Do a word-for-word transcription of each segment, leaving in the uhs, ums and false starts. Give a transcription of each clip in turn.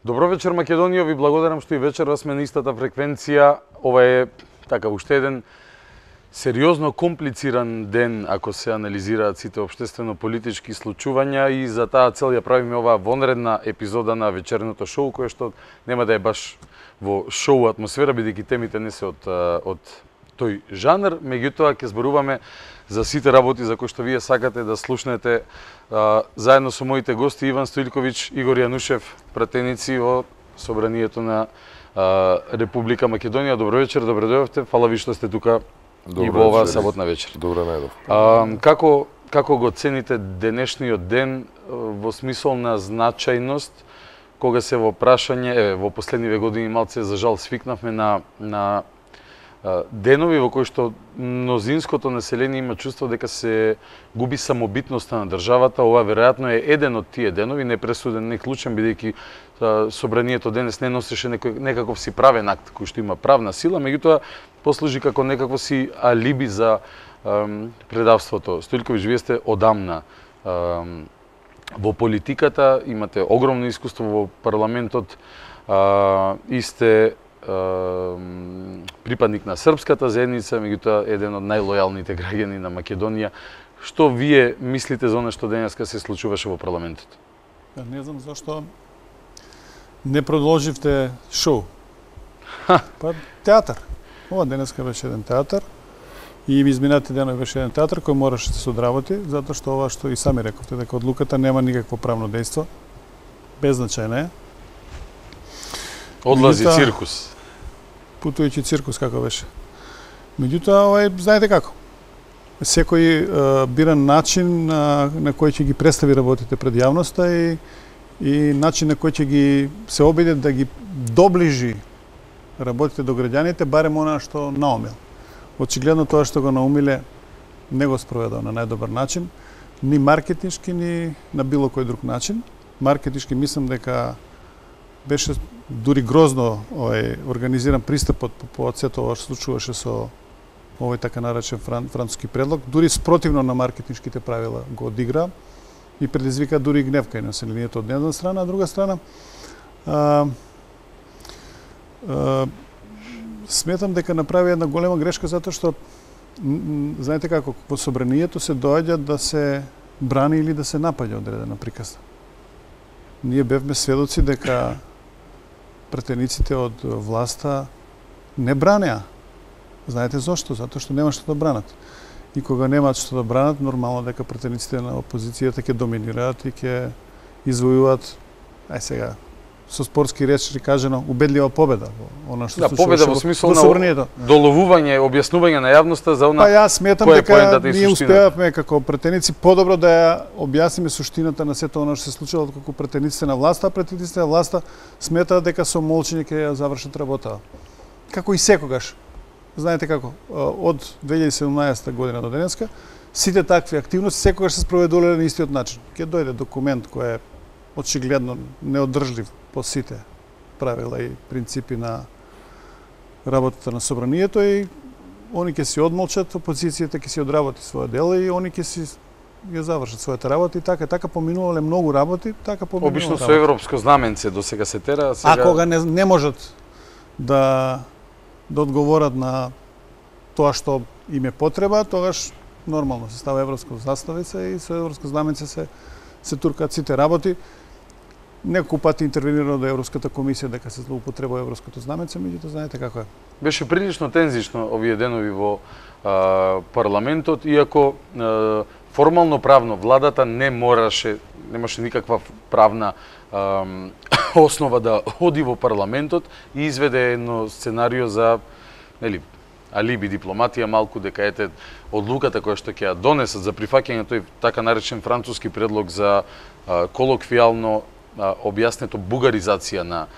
Добро вечер, Македонија, ви благодарам што и вечерва сме на истата фреквенција. Ова е така уште еден сериозно комплициран ден ако се анализираат сите општествено-политички случувања и за таа цел ја правиме оваа вонредна епизода на вечерното шоу, кое што нема да е баш во шоу атмосфера, бидејќи темите не се од, од тој жанр, меѓутоа ќе зборуваме за сите работи за кои што вие сакате да слушнете а, заедно со моите гости Иван Стоилковиќ, Игор Јанушев, пратеници во Собранието на а, Република Македонија. Добро вечер, добро дојдовте. Фала ви што сте тука добро и во оваа саботна вечер. Добро најдов. А, како како го цените денешниот ден во смисол на значајност, кога се во прашање, еве во последниве години малце за жал свикнавме на на денови во кои што мнозинското население има чувство дека се губи самобитноста на државата. Ова веројатно е еден од тие денови, не пресуден, не клучен, бидејќи Собранието денес не носеше некој, некаков си правен акт кој што има правна сила, меѓутоа послужи како некакво си алиби за ем, предавството. Стоилковиќ, вие сте одамна ем, во политиката, имате огромно искуство во парламентот а, и сте припадник на српската заедница, меѓутоа еден од најлојалните граѓани на Македонија. Што вие мислите за оно што денеска се случуваше во парламентот? Не знам зашто не продолживте шоу. Ха. Па театар. Ова денеска беше еден театар и ми изминатите денови беше еден театар кој мораше да се одработи, затоа што ова што и сами рековте, дека одлуката нема никакво правно дејство. Беззначајна е. Одлази циркус. Путујќи циркус како беше. Меѓутоа, овај, знаете како? Секој е, бира начин на, на кој ќе ги представи работите пред јавноста и, и начин на кој ќе ги се обиде да ги доближи работите до граѓаните, барем она што наумил. Очигледно тоа што го наумиле не го спроведува на најдобар начин, ни маркетиншки, ни на било кој друг начин. Маркетиншки мислам дека беше дури грозно овој организиран пристапот по повод сето ова што случуваше со овој така наречен фран, француски предлог, дури спротивно на маркетиншките правила го одигра и предизвика дури гнев кај населението од една страна, а друга страна а, а, сметам дека направи една голема грешка затоа што знаете како во собранието се доаѓа да се брани или да се напаѓа одредена приказна. Ние бевме сведоци дека пратениците од власта не бранеа. Знаете зошто? Затоа што нема што да бранат. И кога немаат што да бранат, нормално дека пратениците на опозицијата ќе доминираат и ќе извојуваат, ај сега, со спортски речи кажано, убедлива победа. Она што да, победа во смисол на доловување, објаснување на јавноста за она. Па јас сметам дека ние успеавме како пратеници подобро да ја објасниме суштината на сето она што се случило како пратениците на власта, а пратениците на власта сметаат дека со молчење ќе ја завршат работата. Како и секогаш. Знаете како, од две илјади и седумнаесетта година до денеска, сите такви активности секогаш се спроведувале на истиот начин. Ќе дојде документ кој е очигледно неодржлив по сите правила и принципи на работата на собранието и они ќе си одмолчат, опозицијата ќе си одработи своја дела и они ќе си ја завршат својата работа и така така поминувале многу работи, така поминувале. Обично со европско знаменце до сега се тера, сега а кога не, не можат да да одговорат на тоа што им е потреба, тогаш нормално се става европско заставица и со европско знаменце се се туркаат сите работи. Неколку пати интервенирано до Европската комисија дека се злоупотребува европското знаменце, меѓутоа знаете како е. Беше прилично тензично овие денови во а, парламентот, иако а, формално правно владата не мораше, немаше никаква правна а, основа да оди во парламентот и изведе едно сценарио за, нели, алиби дипломатија малку, дека ете одлуката која што ќе ја донесат за прифаќање тој така наречен француски предлог за а, колоквијално а, објаснето бугаризација на а,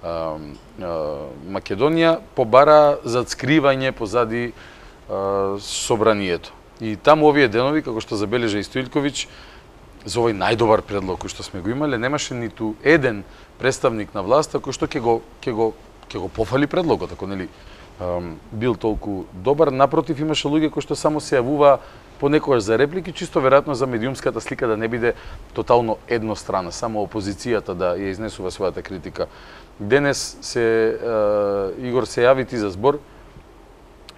а, Македонија побара зацкривање позади а, собранието. И таму овие денови, како што забележа и Стоилковиќ, за овој најдобар предлог кој што сме го имале, немаше ниту еден представник на власта кој што ќе го ќе го ќе го пофали предлогот, ако нели бил толку добар. Напротив, имаше луѓе кои што само се јавува понекогаш за реплики, чисто веројатно за медиумската слика да не биде тотално еднострана, само опозицијата да ја изнесува својата критика. Денес се е, Игор се јави ти за збор,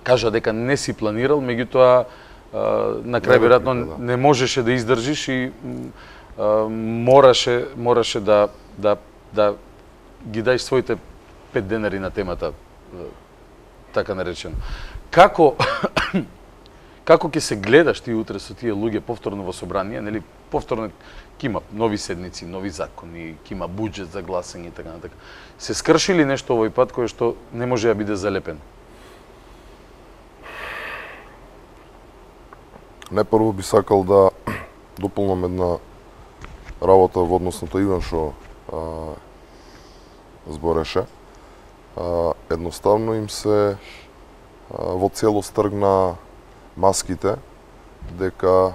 кажа дека не си планирал, меѓутоа на крај веројатно да. не можеше да издржиш и е, мораше мораше да да да ги даеш своите пет денари на темата, така наречено. Како како ќе се гледаш ти утре со тие луѓе повторно во собрание, нели повторно ќе има нови седници, нови закони, ќе има буџет за гласање и така натака. Се скрши ли нешто овој пат кое што не може да биде залепено? Најпрво би сакал да дополнам една работа во однос на тоа Иван што а, збореше. А, едноставно им се а, во целост тргна маските, дека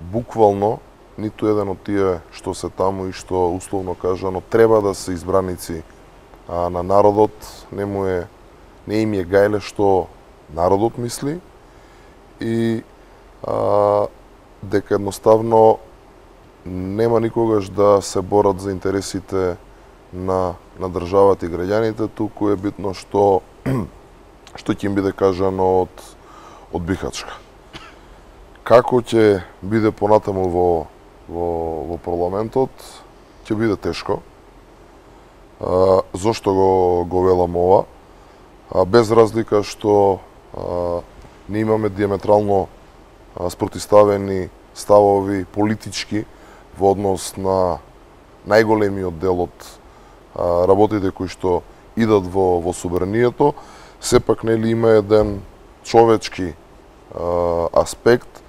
буквално ниту еден од тие што се таму и што условно кажано треба да се избраници а, на народот, не му е не им е гајле што народот мисли и а, дека едноставно нема никогаш да се борат за интересите на на државата и граѓаните, туку е битно што што ќе им биде кажано од од Бихачка. Како ќе биде понатаму во во во парламентот, ќе биде тешко. А, зошто го го велам ова? А, без разлика што а, не имаме диаметрално а, спротивставени ставови политички во однос на најголемиот дел од а, работите кои што идат во во собранието, сепак нели има еден човечки а, аспект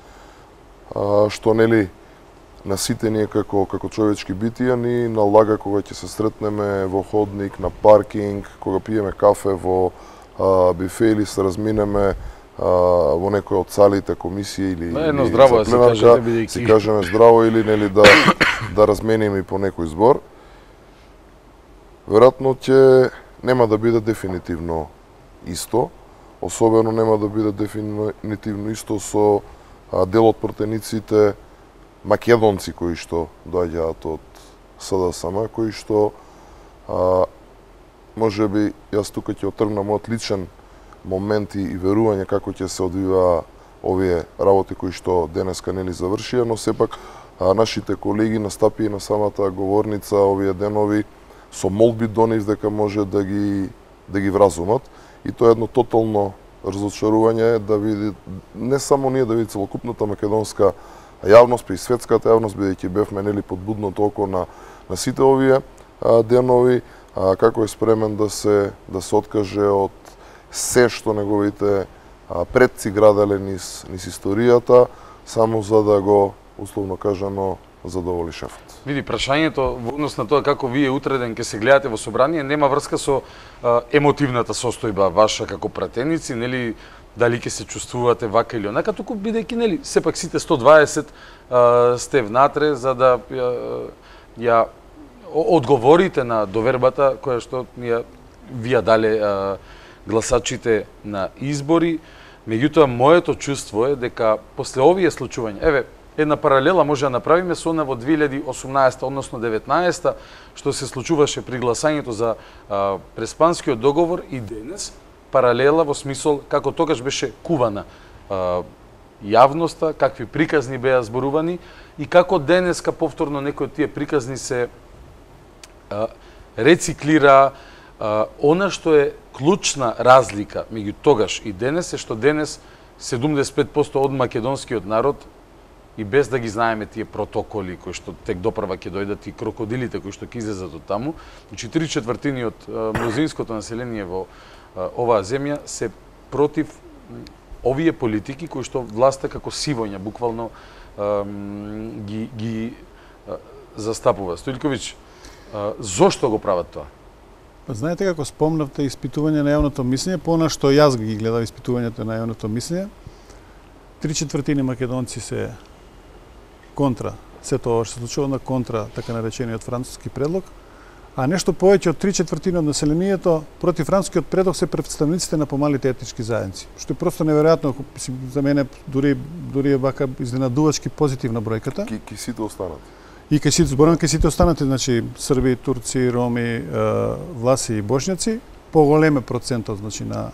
а, што нели на сите ние како како човечки битија ни налага кога ќе се сретнеме во ходник, на паркинг, кога пиеме кафе во а, бифе или се разминеме а, во некој од салите комисија или да, едно здраво да се каже, бидејќи си кажеме здраво или нели да да размениме и по некој збор. Веројатно ќе нема да биде дефинитивно исто, особено нема да биде дефинитивно исто со а, дел од пратениците македонци кои што доаѓаат од СДСМ, кои што а, може би јас тука ќе отргнам од личен момент и верување како ќе се одвива овие работи кои што денеска нели завршија, но сепак а, нашите колеги настапи на самата говорница овие денови со молби до нив дека може да ги да ги вразумат и тоа е едно тотално разочарување да види не само ние да види целокупната македонска јавност, па и светската јавност, бидејќи бевме нели под будното око на на сите овие а, денови, а, како е спремен да се да се откаже од се што неговите а, предци граделе низ низ историјата, само за да го условно кажано задоволи шефот. Види, прашањето во однос на тоа како вие утреден ќе се гледате во собрание нема врска со а, емотивната состојба ваша како пратеници, нели дали ќе се чувствувате вака или онака, туку бидејќи нели сепак сите сто дваесет а, сте внатре за да ја, ја одговорите на довербата која што ја ви ја дале а, гласачите на избори. Меѓутоа моето чувство е дека после овие случувања, еве една паралела може да направиме со она во две илјади и осумнаесета, односно деветнаесета, што се случуваше при гласањето за а, Преспанскиот договор и денес, паралела во смисол како тогаш беше кувана а, јавноста, какви приказни беа зборувани и како денеска повторно некои од тие приказни се а, рециклира. А, она што е клучна разлика меѓу тогаш и денес е што денес седумдесет и пет проценти од македонскиот народ и без да ги знаеме тие протоколи кои што тек допрва ќе дојдат и крокодилите кои што ќе излезат од таму, значи три четвртини од мнозинското население во а, оваа земја се против овие политики кои што власта како сивоња буквално а, ги ги а, застапува. Стојлковиќ, а, зошто го прават тоа? Знаете како спомнавте испитување на јавното мислење, по она што јас ги гледав испитувањето на јавното мислење, три четвртини македонци се контра се тоа што се случува на контра така наречениот француски предлог, а нешто повеќе од три четвртини од населението против францускиот предлог се представниците на помалите етнички заедници. Што е просто неверојатно, за мене дури дури е вака изненадувачки позитивна бројката. Ки, ки сите останат. И кај сите зборам кај сите останати, значи Срби, Турци, Роми, Власи и Бошњаци, поголем е процентот значи на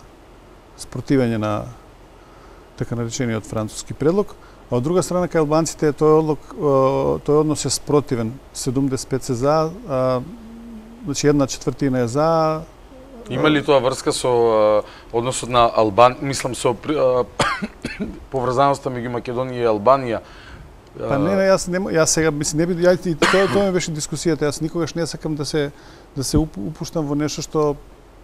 спротивење на така наречениот француски предлог. А од друга страна, кај албанците тој одлог, тој однос е спротивен. седумдесет и пет се за, а, значи една четвртина е за. Има ли тоа врска со односот на Албан, мислам со поврзаноста меѓу Македонија и Албанија? Па не, не, јас не, јас сега мислам не би ја и тоа тоа ми беше дискусијата. Јас никогаш не сакам да се да се упуштам во нешто што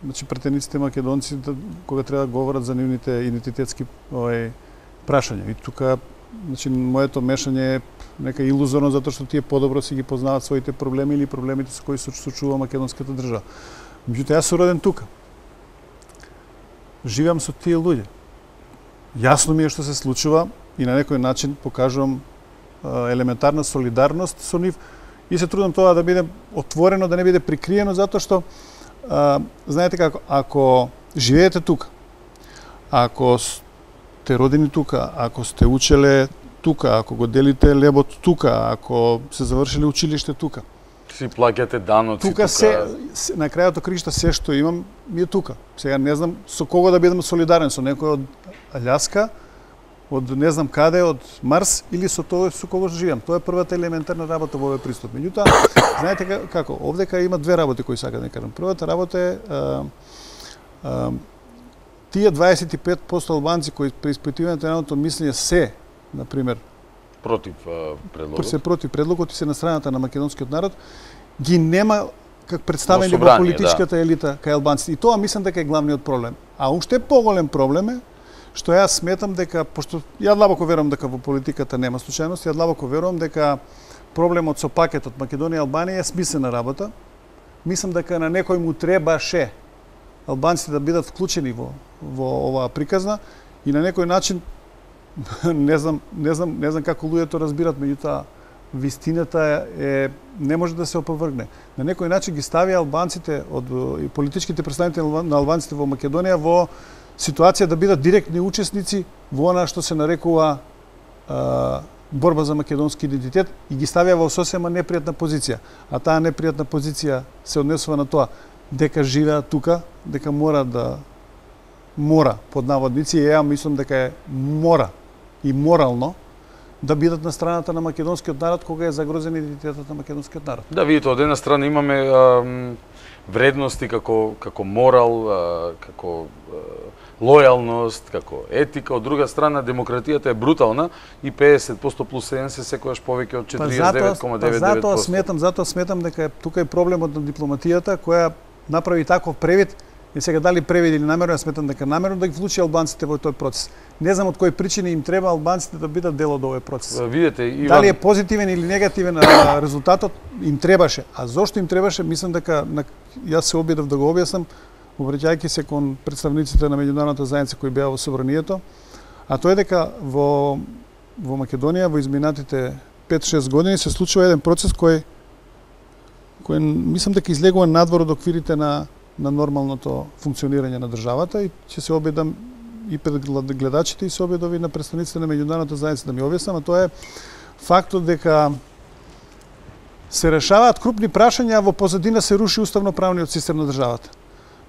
значи претениците македонци да, кога треба да говорат за нивните идентитетски овај прашања. И тука значи моето мешање е нека илузорно затоа што тие подобро си ги познаваат своите проблеми или проблемите со кои се соочува македонската држава. Меѓутоа јас сум роден тука. Живеам со тие луѓе. Јасно ми е што се случува и на некој начин покажувам а, елементарна солидарност со нив и се трудам тоа да биде отворено, да не биде прикриено, затоа што а, знаете како, ако живеете тука, ако сте родени тука, ако сте учеле тука, ако го делите лебот тука, ако се завршиле училиште тука, си плаќате даноци тука. Тука се, се на крајот од кришта се што имам ми е тука. Сега не знам со кого да бидам солидарен, со некој од Аљаска, од не знам каде, од Марс или со тоа со кого живеам. Тоа е првата елементарна работа во овој пристап. Меѓутоа, знаете како, овдека има две работи кои сакам да кажам. Првата работа е а, а, тие дваесет и пет проценти албанци кои при испитувањето на едното мислење се, на пример, против предлогот. Се против предлогот и се на страната на македонскиот народ, ги нема как представени во политичката да. елита кај албанците. И тоа мислам дека е главниот проблем. А уште поголем проблем е што јас сметам дека, пошто ја длабоко верувам дека во политиката нема случајност, ја длабоко верувам дека проблемот со пакетот Македонија и Албанија е смислена работа. Мислам дека на некој му требаше албанците да бидат вклучени во во оваа приказна и на некој начин не знам, не знам, не знам како луѓето разбират, меѓутоа вистината е не може да се опровргне. На некој начин ги стави албанците од и политичките представители на албанците во Македонија во ситуација да бидат директни учесници во она што се нарекува а, борба за македонски идентитет и ги ставија во сосема непријатна позиција. А таа непријатна позиција се однесува на тоа дека живеат тука, дека мора да мора под наводници, и ја мислам дека е мора и морално да бидат на страната на македонскиот народ кога е загрозен идентитетот на македонскиот народ. Да, видите, од една страна имаме а, вредности како како морал, а, како а, лојалност, како етика, од друга страна демократијата е брутална и педесет проценти плюс еден се секогаш повеќе од четириесет и девет zarez деветдесет девет проценти. Затоа сметам, затоа сметам дека е, тука е проблемот на дипломатијата која направи таков превид. И сега дали превид или намерно, ја сметам дека намерно да ги вклучи албанците во тој процес. Не знам од кои причини им треба албанците да бидат дел од овој процес. Видете, Иван... Дали е позитивен или негативен резултатот, им требаше. А зошто им требаше, мислам дека на... јас се обидов да го објаснам, обраќајќи се кон представниците на меѓународната заедница кои беа во собранието, а тоа е дека во во Македонија во изминатите пет-шест години се случува еден процес кој кој мислам дека излегува надвор од оквирите на на нормалното функционирање на државата и ќе се обидам и пред гледачите и се обидов и на представниците на меѓународната заедница да ми објаснам, а тоа е фактот дека се решаваат крупни прашања, а во позадина се руши уставно-правниот систем на државата.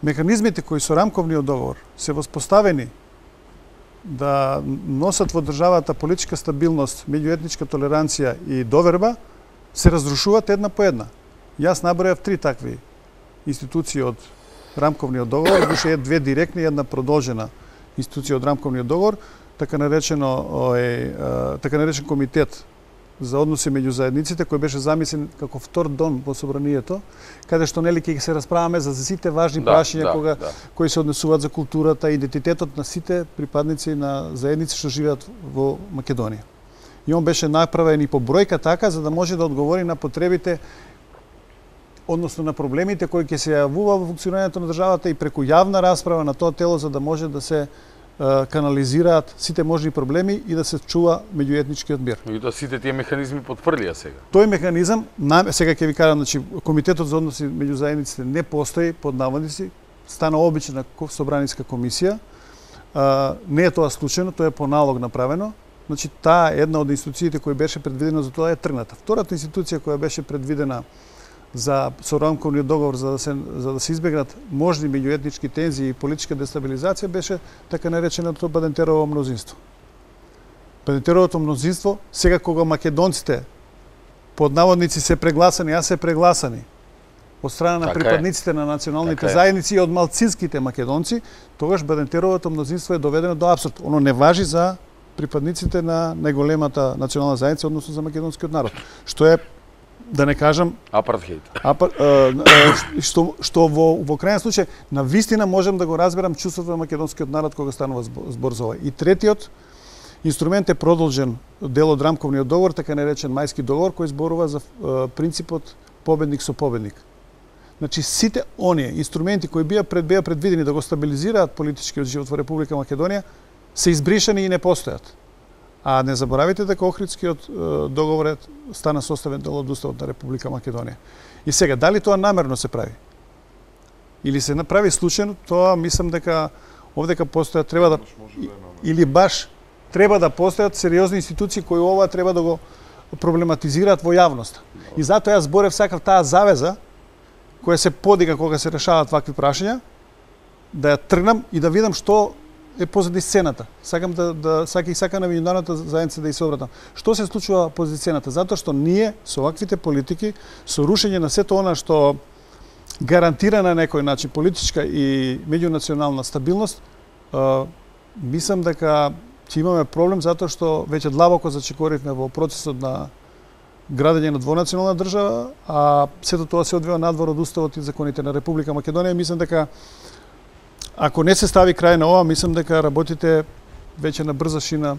Механизмите кои со рамковниот договор се воспоставени да носат во државата политичка стабилност, меѓуетничка толеранција и доверба, се разрушуваат една по една. Јас набројав три такви институции од рамковниот договор, душе две директни и една продолжена институција од рамковниот договор, така наречено ој, така наречен комитет за односи меѓу заедниците кој беше замислен како втор дом во собранието, каде што нели ќе се расправаме за сите важни да, прашања да, кога да. кои се однесуваат за културата и идентитетот на сите припадници на заедници што живеат во Македонија. И он беше направен и по бројка така за да може да одговори на потребите, односно на проблемите кои ќе се јавува во функционирањето на државата и преку јавна расправа на тоа тело за да може да се канализираат сите можни проблеми и да се чува меѓуетничкиот мир. Меѓутоа сите тие механизми потврдија сега. Тој механизам, сега ќе ви кажам, значи комитетот за односи меѓу заедниците не постои под наводници, стана обична собраниска комисија. А, не е тоа случајно, тоа е по налог направено. Значи таа една од институциите која беше предвидена за тоа е тргната. Втората институција која беше предвидена за со рамковниот договор за да се за да се избегнат можни меѓуетнички тензии и политичка дестабилизација беше така нареченото Бадентерово мнозинство. Бадентеровото мнозинство сега кога македонците под наводници се прегласани, а се прегласани од страна на така припадниците е. на националните така заедници и од малцинските македонци, тогаш Бадентеровото мнозинство е доведено до апсурд. Оно не важи за припадниците на најголемата национална заедница, односно за македонскиот народ, што е, да не кажам, апартхејд. Апар, е, е, што што во во крајен случај на вистина можам да го разберам чувството на македонскиот народ кога станува збор за ова. И третиот инструмент е продолжен дел од рамковниот договор, така наречен Мајски договор, кој зборува за е, принципот победник со победник. Значи сите оние инструменти кои бија пред беа предвидени да го стабилизираат политичкиот живот во Република Македонија се избришани и не постојат. А не заборавите дека Охридскиот договор стана составен дел од Уставот на Република Македонија. И сега, дали тоа намерно се прави? Или се направи случајно, тоа мислам дека овдека постојат, треба да... Или баш треба да постојат сериозни институции кои ова треба да го проблематизираат во јавноста. И затоа јас зборев сакав таа завеза, која се подига кога се решаваат вакви прашања, да ја тргнам и да видам што е позади сцената. Сакам да, да сака и сака на меѓународната заедница да ја се обратам. Што се случува позади сцената? Затоа што ние со ваквите политики, со рушење на сето она што гарантира на некој начин политичка и меѓунационална стабилност, е, мислам дека ќе имаме проблем затоа што веќе длабоко зачекоривме во процесот на градење на двонационална држава, а сето тоа се одвива надвор од Уставот и законите на Република Македонија. Мислам дека ако не се стави крај на ова, мислам дека работите веќе на брза шина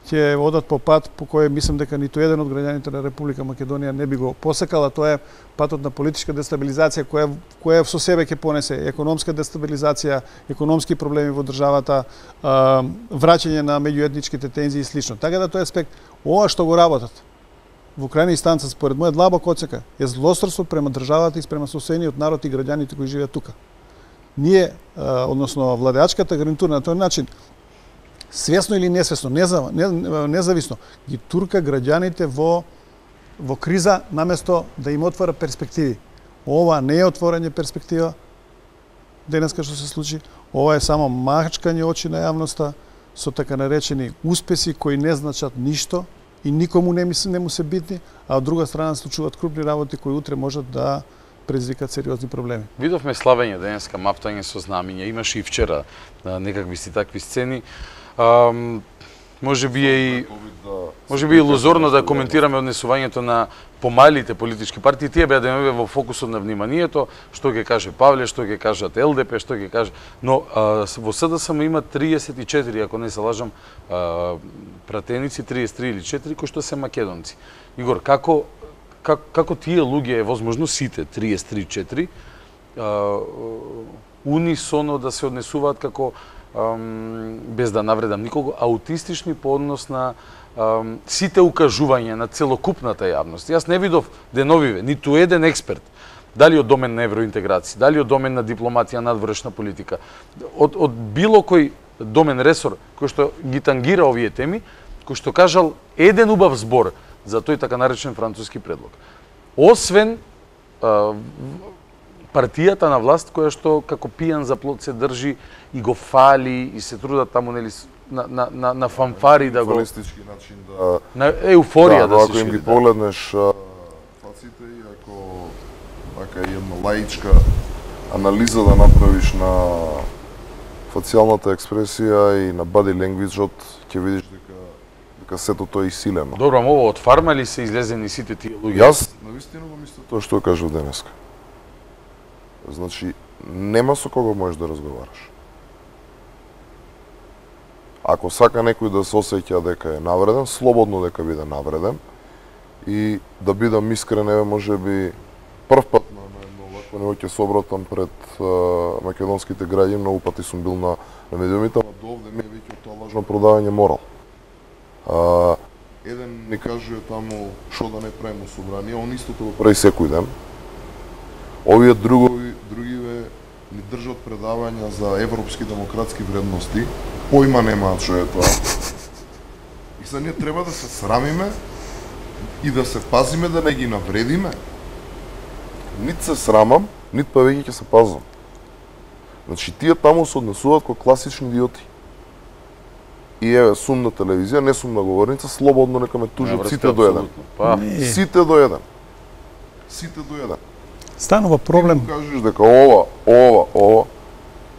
ќе одат по пат по кој мислам дека ниту еден од граѓаните на Република Македонија не би го посекал, а тоа е патот на политичка дестабилизација која која со себе ќе понесе економска дестабилизација, економски проблеми во државата, враќање на меѓуетничките тензии и слично. Така да тој аспект, ова што го работат во крајна инстанца, според мојот длабок оцека, е злосторство према државата и спрема соседниот народ и граѓаните кои живеат тука. Ние, односно владеачката гарнитура на тој начин, свесно или несвесно, независно, ги турка граѓаните во во криза наместо да им отвора перспективи. Ова не е отворање перспектива денеска што се случи, ова е само мачкање очи на јавноста со така наречени успеси кои не значат ништо и никому не, не му се битни, а од друга страна случуваат крупни работи кои утре можат да предизвикаат сериозни проблеми. Видовме славење денеска, маптање со знамиња, имаше и вчера некакви си такви сцени. Um, може би е и може би е илузорно да коментираме однесувањето на помалите политички партии, тие беа деновиве во фокусот на вниманието, што ќе каже Павле, што ќе кажат Ел Де Пе, што ќе каже, но а, во СДСМ има триесет и четири, ако не се лажам, а, пратеници, триесет и три или четири кои што се македонци. Игор, како како, како тие луѓе е возможно сите триесет и три четири а, унисоно да се однесуваат како без да навредам никого, аутистични по однос на ам, сите укажувања на целокупната јавност. Јас не видов деновиве ниту еден експерт, дали од домен на евроинтеграција, дали од домен на дипломатија, надворешна политика, од, од било кој домен ресор кој што ги тангира овие теми, кој што кажал еден убав збор за тој така наречен француски предлог. Освен а, партијата на власт која што како пијан за плот се држи и го фали и се трудат таму нели на на на, на фанфари да го фалистички начин да на еуфорија да, да, да се шири. Ако им ги да. погледнеш фаците и ако така една лаичка анализа да направиш на фацијалната експресија и на body language-от, ќе видиш дека дека сето тоа е исилено. Добро, ово од фарма ли се излезени сите тие луѓе? Јас навистина го мислам тоа што кажав денеска. Значи, нема со кого можеш да разговараш. Ако сака некој да се осеќа дека е навреден, слободно дека биде навреден и да бидам искрен, еве може би прв пат на едно вакво ќе се обратам пред а, македонските граѓани, многу пати сум бил на, на медиумите, ама до овде ми е веќе тоа лажно продавање морал. А, еден ни кажува таму што да не правиме собрание, он истото го прави секој ден. Овие другови, другиве ни држат предавања за европски демократски вредности, појма немаат што е тоа. И сега ние треба да се срамиме и да се пазиме да не ги навредиме. Нит се срамам, нит па веќе ќе се пазвам. Значи тие таму се однесуваат како класични идиоти. И еве сум на телевизија, не сум на говорница, слободно нека ме тужат сите до еден. Па. Сите до еден. Сите до еден. Станува проблем. Ти му кажеш дека ова, ова, ова,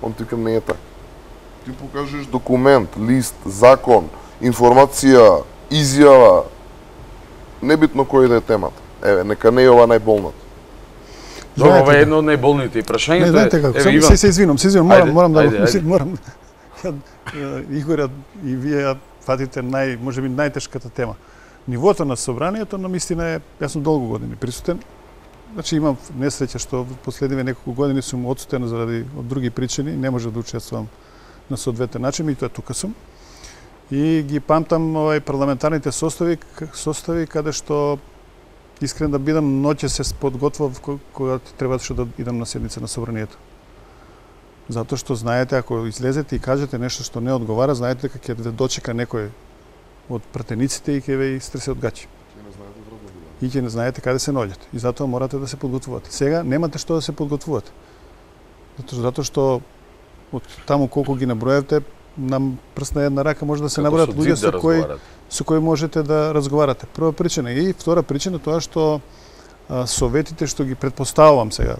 он ти към не е така. Ти покажеш документ, лист, закон, информација, изјава, небитно кој да е темата. Еве, нека не е ова најболната. Добро, ова е едно од најболните и прашањето е... Не, знаете како, еве, се, се извинам, се извинам, морам, Ајде, морам да ајде, ајде. морам. Ја, Игорја и вие ја фатите нај, можеби најтешката тема. Нивото на собранието на мистина е, јас сум долго години присутен. Значи имам несреќа што последниве неколку години сум отсутен заради од други причини, не може да учествувам на соодветен начин и тоа тука сум. И ги памтам овај парламентарните состави, состави каде што искрен да бидам, ноќе се подготвав кога требаше да идам на седница на собранието. Затоа што знаете, ако излезете и кажете нешто што не одговара, знаете дека ќе ве дочека некој од пратениците и ќе ве истресе од гачи. И ќе не знаете каде се наоѓате. И затоа морате да се подготвувате. Сега немате што да се подготвувате. Затоа, затоа што од таму колку ги наброевте, на прст на една рака може да се набројат луѓе со кои со кои можете да разговарате. Прва причина и втора причина тоа што а, советите што ги претпоставувам сега,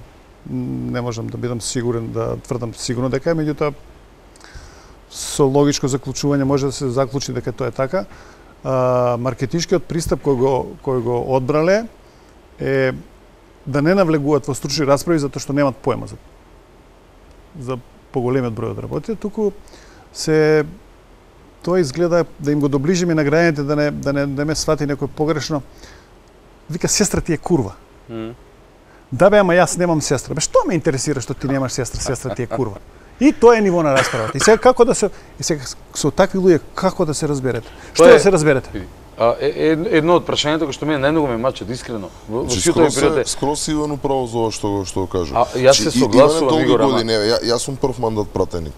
не можам да бидам сигурен, да тврдам сигурно дека е, меѓутоа со логичко заклучување може да се заклучи дека тоа е така. А, маркетиншкиот пристап кој го кој го одбрале е да не навлегуваат во стручни расправи затоа што немаат поема за за поголемиот број од работите, туку се тоа изгледа да им го доближиме на граѓаните, да не да не да ме свати некој погрешно. Вика, сестра ти е курва. Mm. Да бе, ама јас немам сестра. Бе, што ме интересира што ти немаш сестра, сестра ти е курва? И тоа е ниво на расправата. И сега како да се и сега со такви луѓе како да се разберете? Што е, да се разберете? А, е, едно од прашањето кој што мене најмногу ме мачат искрено. Во сите ми пријате. Скрос Иван управо за ова што што го кажа. А јас се согласувам, Игор, ама Ја, јас сум прв мандат пратеник.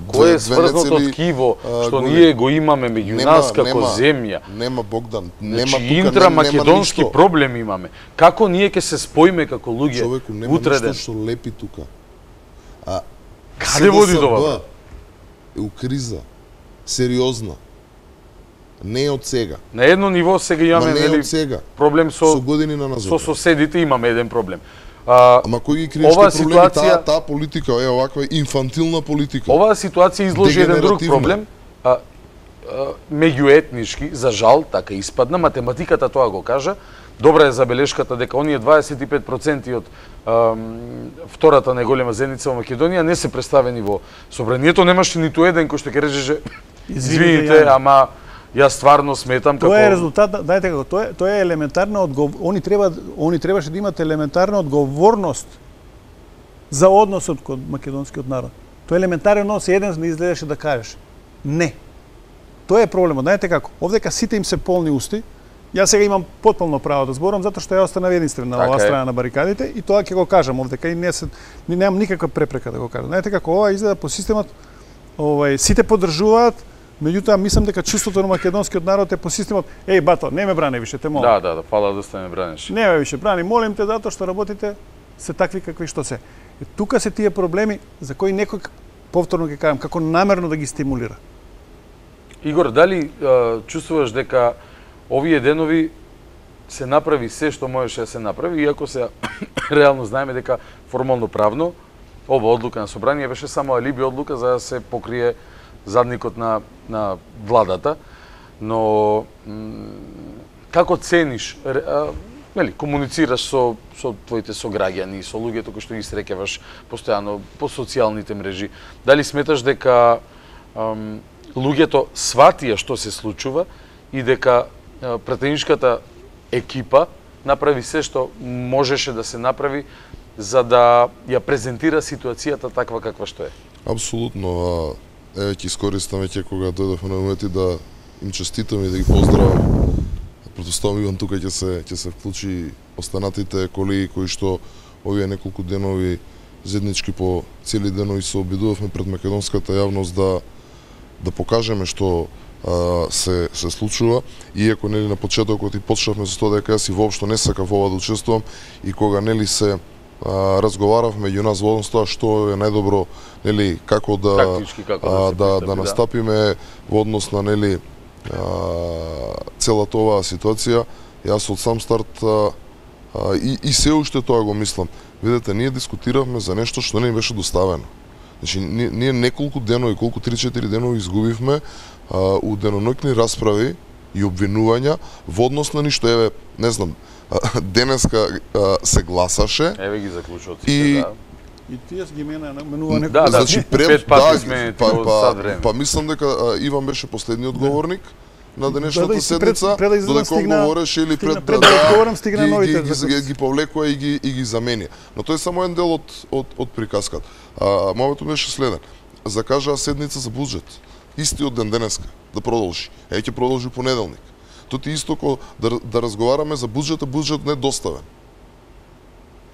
Кој е сврзното ткиво што ние го имаме меѓу нас како земја? Нема Богдан, нема Значи, тука, интрамакедонски нема проблем имаме. Како ние ќе се споиме како луѓе Човеку, нема утреден? ништо што лепи тука. А Каде води тоа? Е у криза. Сериозна. Не е од сега. На едно ниво сега имаме Ма не е нели од сега. проблем со Со години на назад. со соседите имаме еден проблем. А, Ама кој ги криеш оваа проблеми? ситуација- Таа таа политика е оваква инфантилна политика. Оваа ситуација изложи еден друг Дегенеративна. проблем, а, а, меѓуетнички, за жал, така испадна, математиката тоа го кажа. Добра е забелешката дека оние дваесет и пет проценти од ам, втората најголема заедница во Македонија не се представени во собранието, немаше ниту еден кој што ќе речеше извините, Јане. ама јас стварно сметам како Тоа е резултат, дајте како, тоа е, тоа е елементарна одгов... они треба они требаше да имат елементарна одговорност за односот кон македонскиот народ. Тоа е елементарен однос, еден не изгледаше да кажеш. Не. Тоа е проблемот. Знаете како? Овдека сите им се полни усти. Јас сега имам потполно право да зборам затоа што ја останав единствен на Така оваа е. страна на барикадите и тоа ќе го кажам овдека и не се ни немам никаква препрека да го кажам. Знаете како ова изгледа по системот, овај сите поддржуваат, меѓутоа мислам дека чувството на македонскиот народ е по системот еј бато, не ме брани више, те молам. Да, да, да, фала да стане бранеш. Не ме више брани, молим те затоа што работите се такви какви што се. И тука се тие проблеми за кои некој повторно ќе кажам како намерно да ги стимулира. Игор, дали а, чувствуваш дека овие денови се направи се што можеше да се направи, иако се реално знаеме дека формално правно ова одлука на собрание беше само алиби одлука за да се покрие задникот на на владата, но како цениш, а, нели, комуницираш со со твоите сограѓани, со луѓето кои што ги среќаваш постојано по социјалните мрежи, дали сметаш дека ам, луѓето сватија што се случува и дека а, пратеничката екипа направи се што можеше да се направи за да ја презентира ситуацијата таква каква што е. Апсолутно. Еве ќе искористам веќе кога дојдовме на умети да им честитам и да ги поздравам. Претпоставувам Иван тука ќе се ќе се вклучи останатите колеги кои што овие неколку денови заеднички по цели денови се обидувавме пред македонската јавност да да покажеме што а, се се случува, иако нели на почетокот и почнавме со тоа дека јас и воопшто не сакав ова да учествувам и кога нели се а, разговаравме меѓу нас во однос тоа што е најдобро нели како да Тактички, како да, а, се да, пристапи, да настапиме во однос на нели а, целата оваа ситуација, јас од сам старт а, а, и, и се уште тоа го мислам. Видете, ние дискутиравме за нешто што не ни беше доставено. Значи, ние, ние неколку денови, колку три-четири денови изгубивме а, у деноноќни расправи и обвинувања во однос на ништо. Еве, не знам, а, денеска а, се гласаше. Еве ги заклучот и да. И тие ги мене менува некој. Да, да, значи пред пет пати да, сме па, во па, сад време. па мислам дека а, Иван беше последниот говорник на денешната Да, да, и си пред- седница, пред да излезам додека он стигна- говореше или стигна пред пред да одговорам, стигна ги, новите ги, ги, заклучоци. ги, ги повлекува и ги и ги замени. Но тој е само еден дел од од од приказката. А моментот беше следен. Закажаа седница за буџет. Истиот ден денеска да продолжи. Е ќе продолжи понеделник. Тоа ти исто ко да да разговараме за буџетот, буџет не доставен.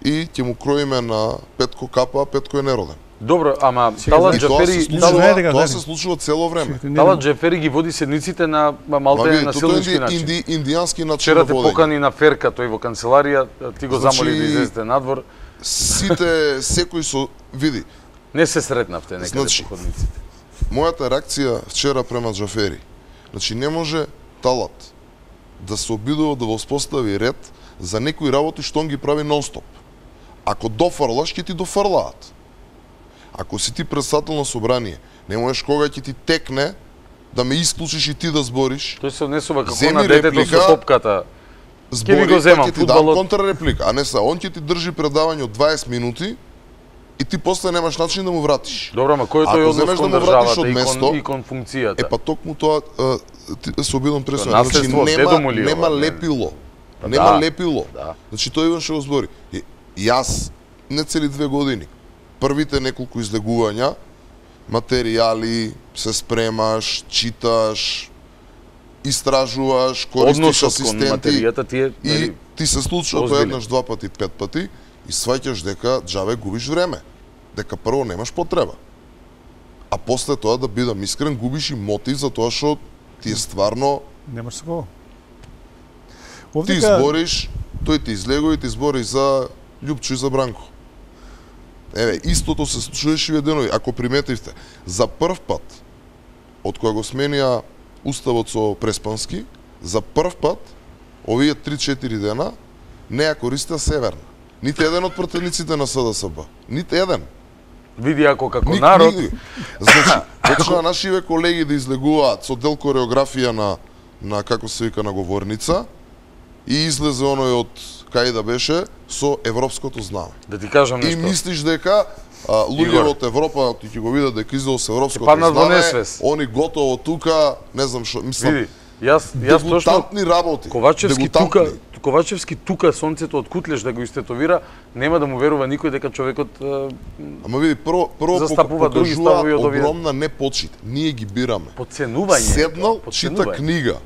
И ќе му кроиме на Петко капа, Петко е нероден. Добро, ама Сега Талат И тоа се Џафери, случува, Знаете дека, тоа знаете. се случува цело време. Талат Џафери ги води седниците на Ма малте види, на тоа силнички е начин. инди, индијански начин Вчера на те водење. покани на ферка тој во канцеларија, ти го Значи, замоли да излезете надвор. Сите, секој со... Види, Не се сретнавте некаде Значи, по ходниците. мојата реакција вчера према Џафери. Значи, не може Талат да се обидува да воспостави ред за некои работи што он ги прави нон-стоп. Ако дофрлаш, ќе ти дофрлаат. Ако си ти председател на собрание, не можеш кога ќе ти текне да ме исклучиш и ти да збориш, Тој се однесува како Земи на детето реплика. со топката. збори, ви го земам, па ќе ти дам фудбалот. контрреплика. А не са, он ќе ти држи предавање од дваесет минути и ти после немаш начин да му вратиш. Добро, ама кој е Ако тој однос земеш кон да му вратиш државата од и место, кон, и кон функцијата? Е па токму тоа а, ти- се обидам пресвен. Тоа Значи наследство од дедо нема му ли нема ова, не? лепило. Па Нема да. лепило. Да. Значи тој Иван што го збори. И, јас не цели две години. Првите неколку излегувања, материјали, се спремаш, читаш, истражуваш, користиш Односот кон асистенти материјата ти е и нели, ти се случува тоа озбилен. еднаш, два пати, пет пати и сваќаш дека џаве губиш време. Дека прво немаш потреба. А после тоа, да бидам искрен, губиш и мотив за тоа што ти е стварно, Немаш со кого. ти Овдека избориш, тој ти излегува и ти избори за Љупчо и за Бранко. Еве, истото се случуваше и денови. Ако приметивте, за прв пат, од кога го сменија Уставот со Преспански, за прв пат, овие три-четири дена, не ја користеа Северна. Ните еден од пратениците на СДСБ. Ните еден. види ако како Ник- народ, ник- Значи, почнаа нашиве колеги да излегуваат со дел кореографија на, на како се вика, на говорница и излезе оној од кај да беше со европското знаме. да ти кажам И нешто. мислиш дека а, луѓе Игор. од Европа, ти ќе го видат дека излезе со европското паднат во знаме, несвес. они готово тука, не знам што, мислам, Види, јас јас точно дегутантни работи. Ковачевски тука, дегутантни. Ковачевски тука сонцето од Кутлеш да го истетовира, нема да му верува никој дека човекот е, Ама види, прво, прво Застапува други покажуваат ставови од овие. огромна непочит. Ние ги бираме. подценување. Седнал, тоа, чита подценување. книга.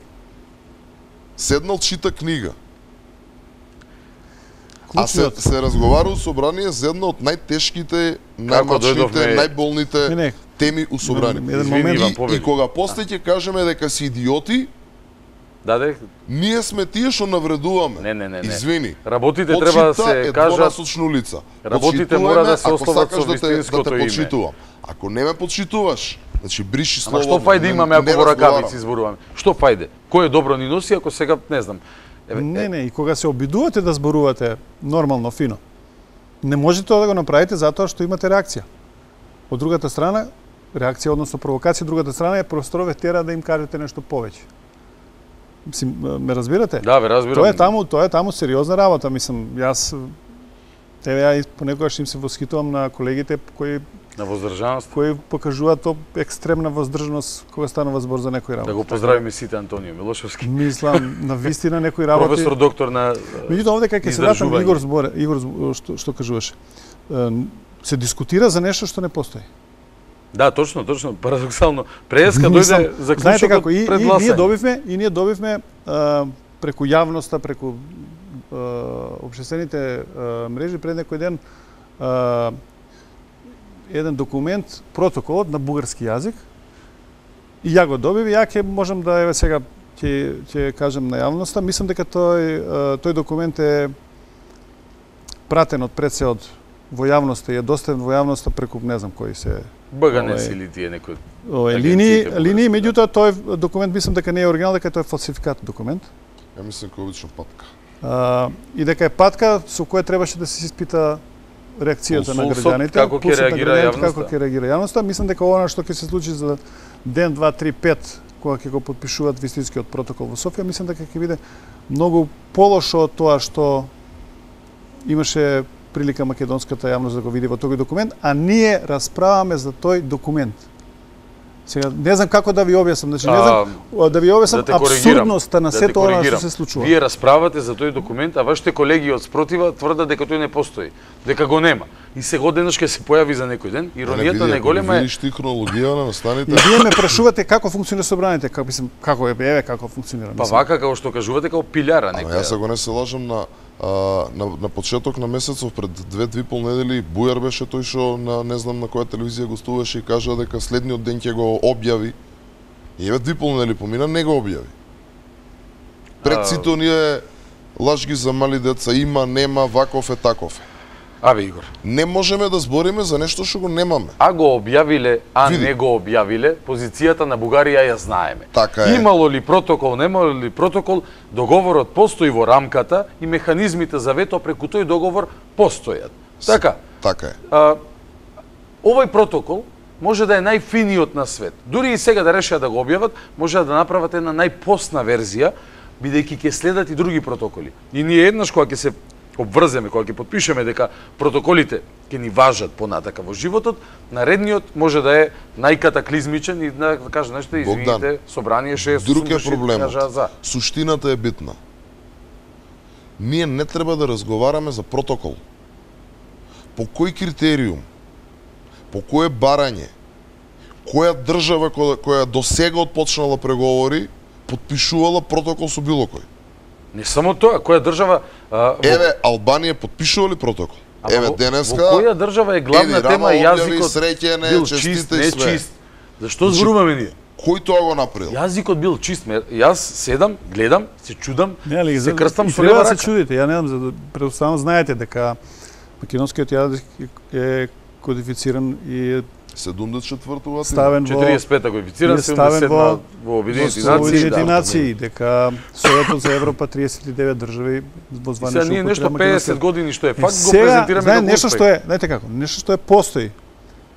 Седнал, чита книга. А се, Клучниот. се разговара у собрание за една од најтешките, најмачните, дојдовме- најболните Не, не. теми у собрание. Еден Извини, момент. Иван, И, победи. и кога после ќе кажеме дека си идиоти, Даде, ние сме тие што навредуваме. Не, не, не, не. Извини. Работите треба да Почита се е кажат. двонасочна улица. Работите Почитувај мора да ме, се ако ословат сакаш со да те, да вистинското те име. почитувам. Ако не ме почитуваш, значи бриши ама слово. што фајде не- имаме не ако во разговарам. ракавици зборуваме? Што фајде? Кој е добро ни носи ако сега не знам. Еве, Не, не, и кога се обидувате да зборувате нормално, фино, не можете тоа да го направите затоа што имате реакција. Од другата страна, реакција, односно провокација, другата страна е простро ве тера да им кажете нешто повеќе. Мислим, ме разбирате? Да, ве разбирам. Тоа е таму, тоа е таму сериозна работа, мислам, јас еве ја понекогаш им се восхитувам на колегите кои на воздржаност, кои покажуваат топ екстремна воздржаност кога станува збор за некои работи. Да го поздравиме сите Антонио Милошевски. Мислам на вистина некои работи. Професор доктор на Меѓутоа овде кај ќе се вратам Игор зборе, Игор што што кажуваше. Се дискутира за нешто што не постои. Да, точно, точно, парадоксално. Преска дојде заклучокот пред гласање. И ние добивме, и ние добивме а, преку јавноста, преку а, општествените а, мрежи пред некој ден а, еден документ, протоколот на бугарски јазик. И ја го добив, ја ќе можам да еве сега ќе ќе кажам на јавноста, мислам дека тој тој документ е пратен од пред се од во јавноста и е доставен во јавноста преку не знам кои се БГНС или тие некои овој линии, линии, меѓутоа тој документ мислам дека не е оригинал, дека тој е фалсификат документ. Ја мислам дека обично патка. А, и дека е патка со која требаше да се испита реакцијата на граѓаните, како ќе реагира јавноста. Како ќе реагира јавноста, мислам дека ова што ќе се случи за ден, два, три, пет, кога ќе го потпишуваат вистинскиот протокол во Софија, мислам дека ќе биде многу полошо од тоа што имаше прилика македонската јавност да го види во тој документ, а ние расправаме за тој документ. Сега не знам како да ви објаснам, значи не знам а, да ви објаснам да апсурдноста на да сето ова што се случува. Вие расправате за тој документ, а вашите колеги од спротива тврдат дека тој не постои, дека го нема. И сега денес ќе се појави за некој ден. Иронијата најголема е. Видиш ти хронологија на настаните. И вие ме прашувате како функционира собранието, како мислам како е еве како функционира. Па вака како што кажувате како пилјара некоја. Ама јас го не се лажам на А, на, на почеток на месецов пред две-две пол недели Бујар беше тој што на не знам на која телевизија гостуваше и кажа дека следниот ден ќе го објави. И еве две пол недели помина не го објави. Пред сите оние лажги за мали деца има, нема, ваков е, таков е. Абе Игор, не можеме да збориме за нешто што го немаме. А го објавиле, а Види. не го објавиле, позицијата на Бугарија ја знаеме. Така е. Имало ли протокол, немало ли протокол, договорот постои во рамката и механизмите за вето преку тој договор постојат. Така? Така е. А, овој протокол може да е најфиниот на свет. Дури и сега да решат да го објават, може да направат една најпосна верзија, бидејќи ќе следат и други протоколи. И ние еднаш кога ќе се обврземе, кога ќе потпишеме дека протоколите ќе ни важат понатака во животот, наредниот може да е најкатаклизмичен и да каже нешто, извините, собрание шест Друг е проблемот. За. Суштината е битна. Ние не треба да разговараме за протокол. По кој критериум, по кое барање, која држава која, која до сега отпочнала преговори, потпишувала протокол со било кој? Не само тоа, која држава... А, во... Еве, Албанија потпишува ли протокол? Ама Еве, во, денеска... Во која држава е главна еди, тема јазикот среќене, бил честите чист, и не све. чист? Зашто зборуваме ние? Кој тоа го направил? Јазикот бил чист. Јас седам, гледам, се чудам, не, али, се крстам со лева лева рака. рака. Се чудите, ја не знам, за предоставам знаете дека македонскиот јазик е кодифициран и седумдесет и четврто латина. ставен во четириесет и пета кодифициран, седумдесет и седма во во Обединети нации, нации, нации, дека Советот за Европа триесет и девет држави во званична Сега ние нешто педесет години што е факт го сега, презентираме знае, како нешто успех. што е, знаете како, нешто што е постои,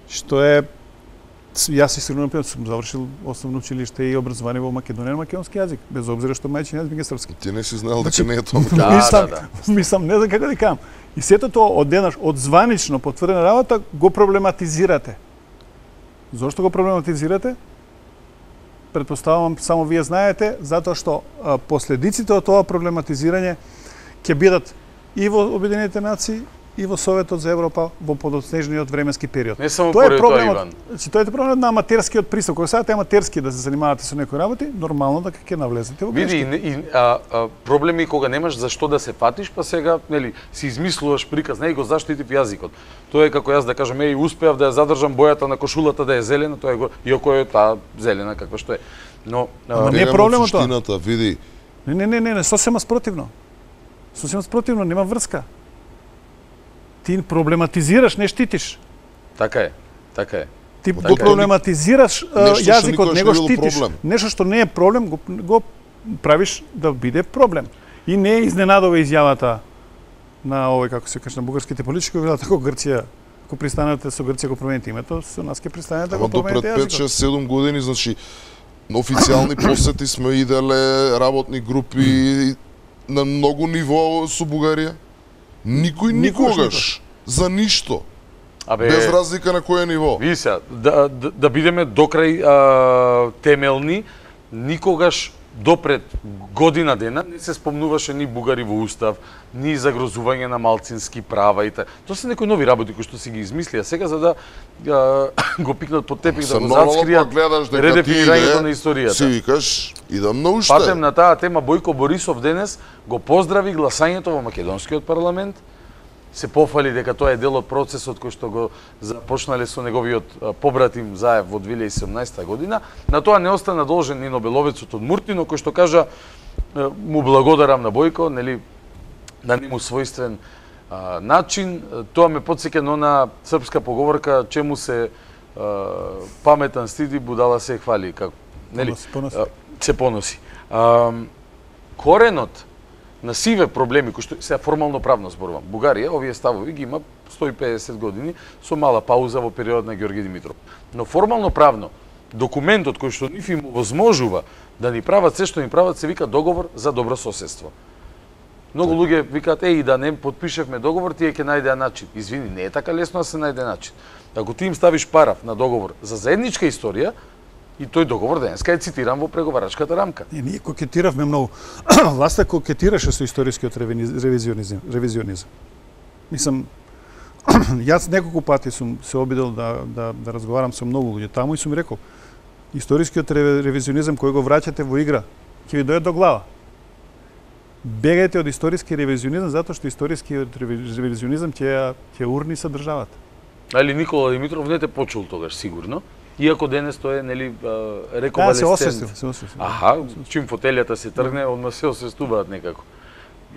што е јас истинно например сум завршил основно училиште и образование во Македонија на македонски јазик, без обзира што мајчин јазик е српски. Ти не си знаел Значи, дека не е тоа. Да, мислам, да, мислам, не знам како да кажам. И сето тоа од денаш, од званично потврдена работа го проблематизирате. Зошто го проблематизирате? Предпоставувам само вие знаете, затоа што а, последиците од тоа проблематизирање ќе бидат и во Обединетите нации и во Советот за Европа во подоцнежниот временски период. Не само тоа е поради тоа, проблемот, Иван. значи тоа е проблемот на аматерскиот пристап. Кога сакате аматерски да се занимавате со некои работи, нормално дека ќе навлезете во Види, грешки. и, и а, а, проблеми кога немаш за што да се фатиш, па сега, нели, си измислуваш приказ, не и го заштитив јазикот. Тоа е како јас да кажам, еј, успеав да ја задржам бојата на кошулата да е зелена, тоа е го, иако е таа зелена каква што е. Но Ама а, не е проблемот тоа. Суштината, види. Не, не, не, не, не, сосема спротивно. Сосема спротивно, нема врска. Ти проблематизираш, не штитиш. така е, така е. Ти Така го е. проблематизираш а, Нешто што јазикот, никогаш не не го било штитиш. проблем. Нешто што не е проблем, го, го правиш да биде проблем. И не е изненадова изјавата на овој, како се каже, на бугарските политички, кои велат ако Грција, ако пристанете со Грција го промените името, со нас ќе пристанете да Ама го до пред промените пет јазикот. шест седум години, значи, на официјални посети сме иделе работни групи на многу ниво со Бугарија. Никој никогаш за ништо. Абе, без разлика на кој ниво. Ви се, да, да, да бидеме докрај а, темелни, никогаш допред година дена не се спомнуваше ни бугари во устав, ни загрозување на малцински права и така. Тоа се некои нови работи кои што си ги измислија сега за да а, го пикнат под тепих, да го заскријат редефинирањето на историјата. Си викаш, идам на уште. Патем на таа тема, Бојко Борисов денес го поздрави гласањето во македонскиот парламент, се пофали дека тоа е дел од процесот кој што го започнале со неговиот побратим Заев во две илјади и седумнаесета година. На тоа не остана должен ни Нобеловецот од Муртино, кој што кажа му благодарам на Бојко, нели, на нему својствен а, начин. Тоа ме потсеќа на она српска поговорка, чему се а, паметен стиди, будала се хвали, како, нели, поноси. А, се поноси. А, коренот на сиве проблеми кои што се формално правно зборувам. Бугарија овие ставови ги има сто и педесет години со мала пауза во период на Ѓорги Димитров. Но формално правно документот кој што нив им возможува да ни прават се што ни прават се вика договор за добро соседство. Многу луѓе викаат еј да не потпишевме договор, тие ќе најдеа начин. Извини, не е така лесно да се најде начин. Ако ти им ставиш параф на договор за заедничка историја, и тој договор денеска е цитиран во преговарачката рамка. Не, ние кокетиравме многу. Власта кокетираше со историскиот ревизионизм. ревизионизм. Мислам, јас неколку пати сум се обидел да, да, да разговарам со многу луѓе таму и сум рекол, историскиот ревизионизм кој го враќате во игра, ќе ви дојде до глава. Бегајте од историски ревизионизм затоа што историскиот ревизионизм ќе ќе урни со државата. Али Никола Димитров не те почул тогаш сигурно. Иако денес тоа е, нели, Да, рековалесцент. се освестил, се освестил. Аха, чим фотелјата се тргне, одма се освестуваат некако.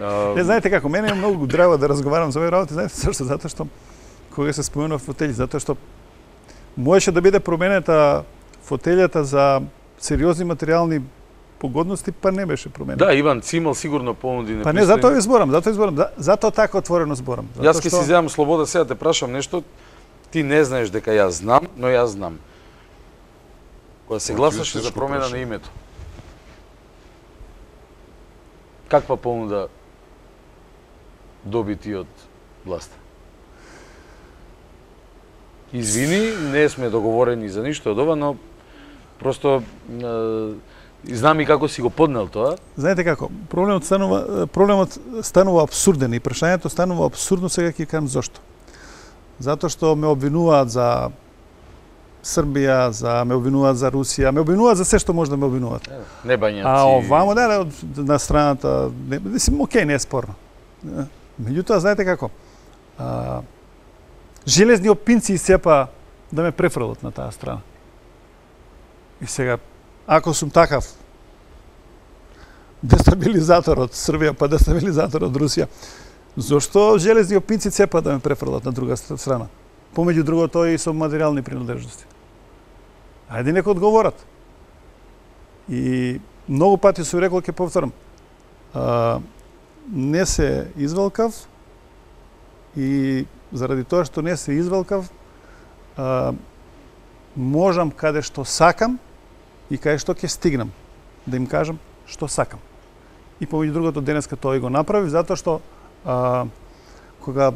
А, Не, знаете како, мене е многу драго да разговарам за овие работи, знаете зашто? Затоа што кога се споменува фотели, затоа што можеше да биде променета фотелјата за сериозни материјални погодности, па не беше променета. Да, Иван Цимал сигурно понуди непристојни. Па не, затоа ви зборам, затоа ви зборам, затоа така отворено зборам. Јас ќе си земам слобода сега да те прашам нешто, ти не знаеш дека јас знам, но јас знам. Кога се гласаше за промена на името, каква понуда доби ти од власта? Извини, не сме договорени за ништо од ова, но просто е, знам и како си го поднел тоа. Знаете како, проблемот станува проблемот станува апсурден и прашањето станува апсурдно, сега ќе кажам зошто. Затоа што ме обвинуваат за Србија, за ме обвинуваат за Русија, ме обвинуваат за се што може да ме обвинуваат. Не бањаци. А овамо да, на страната, не, мислим, окей, не е спорно. Меѓутоа, знаете како, а, железни опинци исцепа да ме префрлат на таа страна. И сега, ако сум такав дестабилизатор од Србија, па дестабилизатор од Русија, зошто железни опинци цепа да ме префрлат на друга страна? Помеѓу другото и со материјални принадлежности. Ајде нека одговорат. И многу пати сум рекол, ќе повторам, а, не се извелкав и заради тоа што не се извелкав, а, можам каде што сакам и каде што ќе стигнам да им кажам што сакам. И помеѓу другото денеска тоа и го направив, затоа што а, кога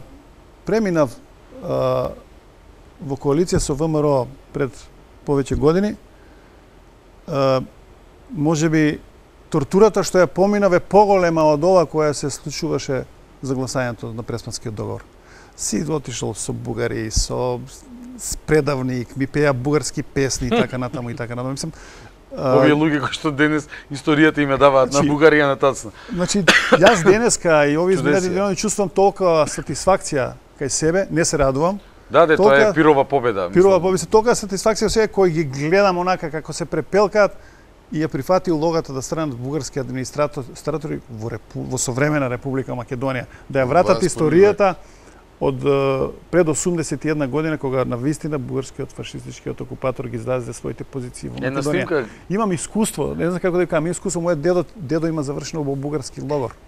преминав а, во коалиција со ВМРО пред повеќе години, а, може би тортурата што ја поминав е поголема од ова која се случуваше за гласањето на Преспанскиот договор. Си отишол со бугари, со предавник, ми пеа бугарски песни и така натаму и така натаму. Мислам, овие луѓе кои што денес историјата им ја даваат на Бугарија на тацна. Значи, јас денеска и овие изминати денови чувствувам толкова сатисфакција кај себе, не се радувам. Да, де, тоа е пирова победа. Пирова победа, толкова сатисфакција во себе кој ги гледам онака како се препелкаат и ја прифати улогата да станат бугарски администратори во, репу, во современа Република Македонија, да ја вратат историјата од пред осумдесет и една година, кога на вистина бугарскиот фашистичкиот окупатор ги издаде своите позиции во Македонија. Снимка... Имам искуство, не знам како да кажам, искуство, мојот дедо, дедо има завршено во бугарски логор.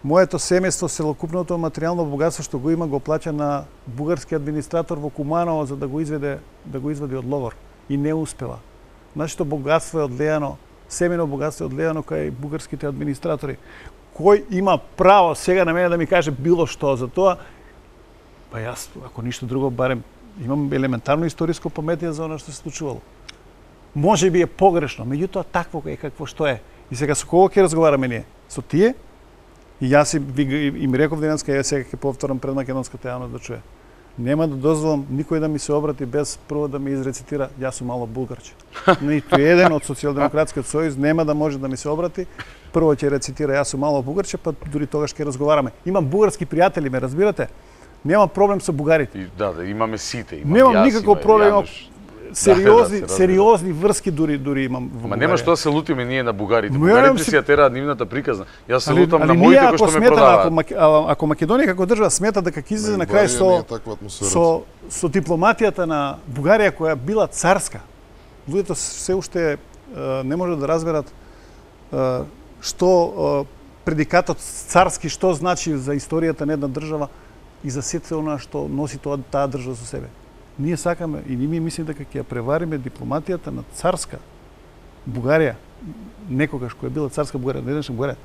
Моето семејство, целокупното материјално богатство што го има, го плаќа на бугарски администратор во Куманово за да го изведе, да го извади од логор и не успела. Нашето богатство е одлејано, семено богатство е одлејано кај бугарските администратори, кој има право сега на мене да ми каже било што за тоа? Па јас, ако ништо друго, барем имам елементарно историско паметие за она што се случувало. Може би е погрешно, меѓутоа такво е какво што е. И сега со кого ќе разговараме ние? Со тие? И јас и, и ми реков денеска, ја сега ќе повторам пред македонската јавност да чуе. Нема да дозволам никој да ми се обрати без прво да ми изрецитира јас сум мало булгарче. Ниту еден од Социјалдемократскиот сојуз нема да може да ми се обрати. Прво ќе рецитира јас сум мало булгарче, па дури тогаш ќе разговараме. Имам бугарски пријатели, ме разбирате? Нема проблем со бугарите. И, да, да, имаме сите. Имам Немам јас, никаков има проблем. Јануш. Сериозни, Да, да, сериозни врски дури дури имам во Ма Бугарија. нема што да се лутиме ние на бугарите. Но Бугарите си- си ја тераат нивната приказна. Јас се Али, лутам али на ние моите кои ако што ме сметаме, ако, продаваат. Маке- а- ако Македонија како држава смета дека ќе излезе на крај Бугарија со не е таква атмосфера. со со дипломатијата на Бугарија која била царска. Луѓето се уште е, не можат да разберат е, што е, предикатот царски што значи за историјата на една држава и за сето она што носи тоа таа држава со себе. Ние сакаме и ние мислиме дека ќе ја превариме дипломатијата на царска Бугарија, некогаш која била царска Бугарија, денешна Бугарија.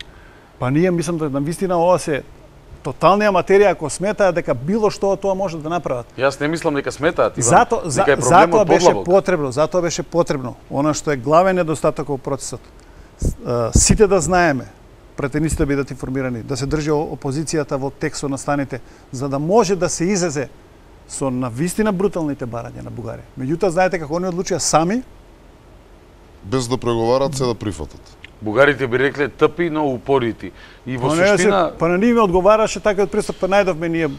Па ние мислам да навистина ова се тотална материја ако сметаат дека било што од тоа може да направат. Јас не мислам дека сметаат, Иван. Зато, за, дека е затоа проблемот беше подлабок. потребно, затоа беше потребно. Она што е главен недостаток во процесот. С- а, Сите да знаеме, претениците да бидат информирани, да се држи о- опозицијата во текстот на станите, за да може да се излезе со навистина бруталните барања на Бугарија. Меѓутоа, знаете како они одлучија сами, Без да преговарат, се да прифатат. Бугарите би рекле тъпи, но упорити. И во па не суштина се, па на ниве одговараше такиот пристап, па најдовме ние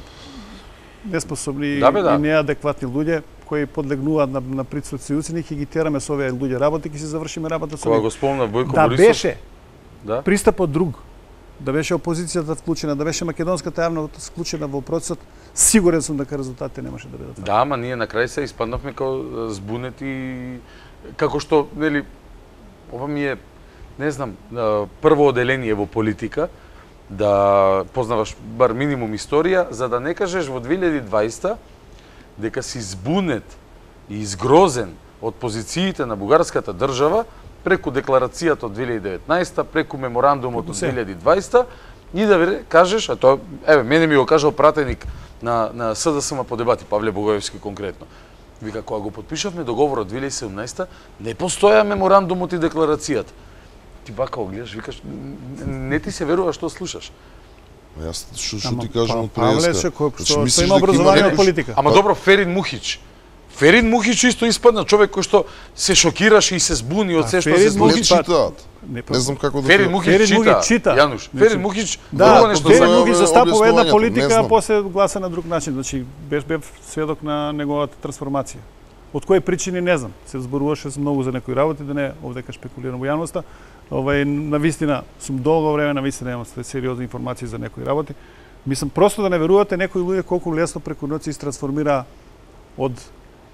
неспособни Да, бе, да. и неадекватни луѓе кои подлегнуваат на, на притисоци и уцени, ќе ги тераме со овие луѓе работи, ќе си завршиме работа со кога нив. го спомна Бојко Да Борисов, беше да? пристапот друг, да беше опозицијата вклучена, да беше македонската јавност вклучена во процесот, сигурен сум дека резултатите немаше да бидат такви. Да, ама ние на крај се испаднавме како збунети, како што, нели, ова ми е, не знам, а, прво оделение во политика, да познаваш бар минимум историја, за да не кажеш во две илјади и дваесета дека си збунет и изгрозен од позициите на бугарската држава преку декларацијата од две илјади и деветнаесета, преку меморандумот Преку од се. две илјади и дваесета и да ви кажеш, а тоа, еве, мене ми го кажал пратеник на, на СДСМ по дебати, Павле Богоевски конкретно. Вика, кога го подпишавме договорот две илјади и седумнаесета, не постоја меморандумот и декларацијата. Ти вака го гледаш, викаш, не ти се верува што слушаш. Јас што што Ама, ти кажам па, од Павле преска. се кој- Значи, што- што мислиш има дека образование некој- од политика. Ама добро, Ферин Мухич. Ферин Мухич исто испадна човек кој што се шокираше и се збуни од А се што Ферин се Не збуни. Мухич- читаат. Не, па- Не знам како да Ферин се- Мухич Ферин чита, Мухич чита. Јануш. Значи, Ферин Мухич Да, друго нешто Ферин знае. Мухич Ова е застапува една објаснувањето, политика, не а знам. после гласа на друг начин. Значи, беш бев сведок на неговата трансформација. Од кои причини не знам. Се зборуваше многу за некои работи, да не овдека шпекулирам во јавноста. Овај на вистина сум долго време на вистина имам сериозни информации за некои работи. Мислам просто да не верувате некои луѓе колку лесно преку ноќ се трансформира од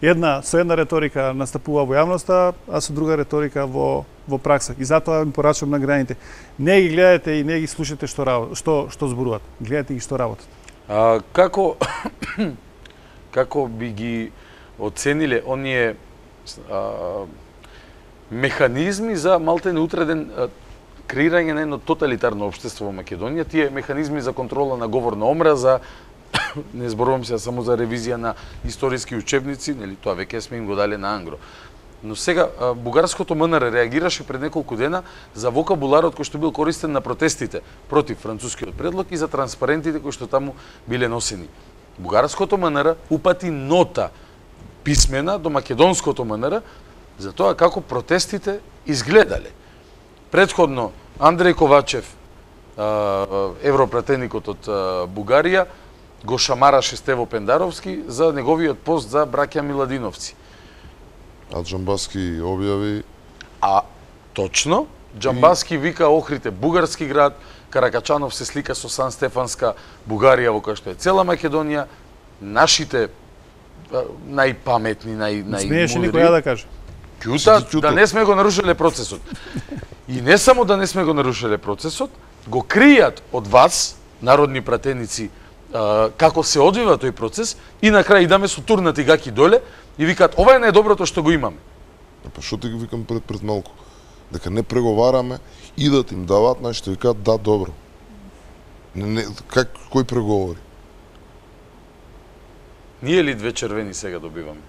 една со една реторика настапува во јавноста, а со друга реторика во во пракса. И затоа им порачувам на граните. Не ги гледате и не ги слушате што рабо- што што зборуваат. Гледате ги што работат. А, како како би ги оцениле оние а, механизми за малтене утреден а, креирање на едно тоталитарно општество во Македонија, тие механизми за контрола на говор на омраза, не зборувам се само за ревизија на историски учебници, нели тоа веќе сме им го дале на ангро. Но сега а, бугарското МНР реагираше пред неколку дена за вокабуларот кој што бил користен на протестите против францускиот предлог и за транспарентите кои што таму биле носени. Бугарското МНР упати нота писмена до македонското МНР за тоа како протестите изгледале. Предходно Андреј Ковачев, а, европратеникот од а, Бугарија, го шамараше Стево Пендаровски за неговиот пост за браќа Миладиновци. А Џамбаски објави А точно, Џамбаски вика Охрид е бугарски град, Каракачанов се слика со Сан Стефанска Бугарија во која што е цела Македонија, нашите а, најпаметни, нај најмудри. Смееше никој ја да каже. Ќута, Си ти да ќутал. не сме го нарушиле процесот. И не само да не сме го нарушиле процесот, го кријат од вас, народни пратеници, а, како се одвива тој процес и на крај идаме со турнати гаки доле и викаат ова е најдоброто што го имаме. Па што ти го викам пред пред малку? Дека не преговараме, идат им даваат, значи викаат да, добро. Не, не, как, кој преговори? Ние ли две червени сега добиваме?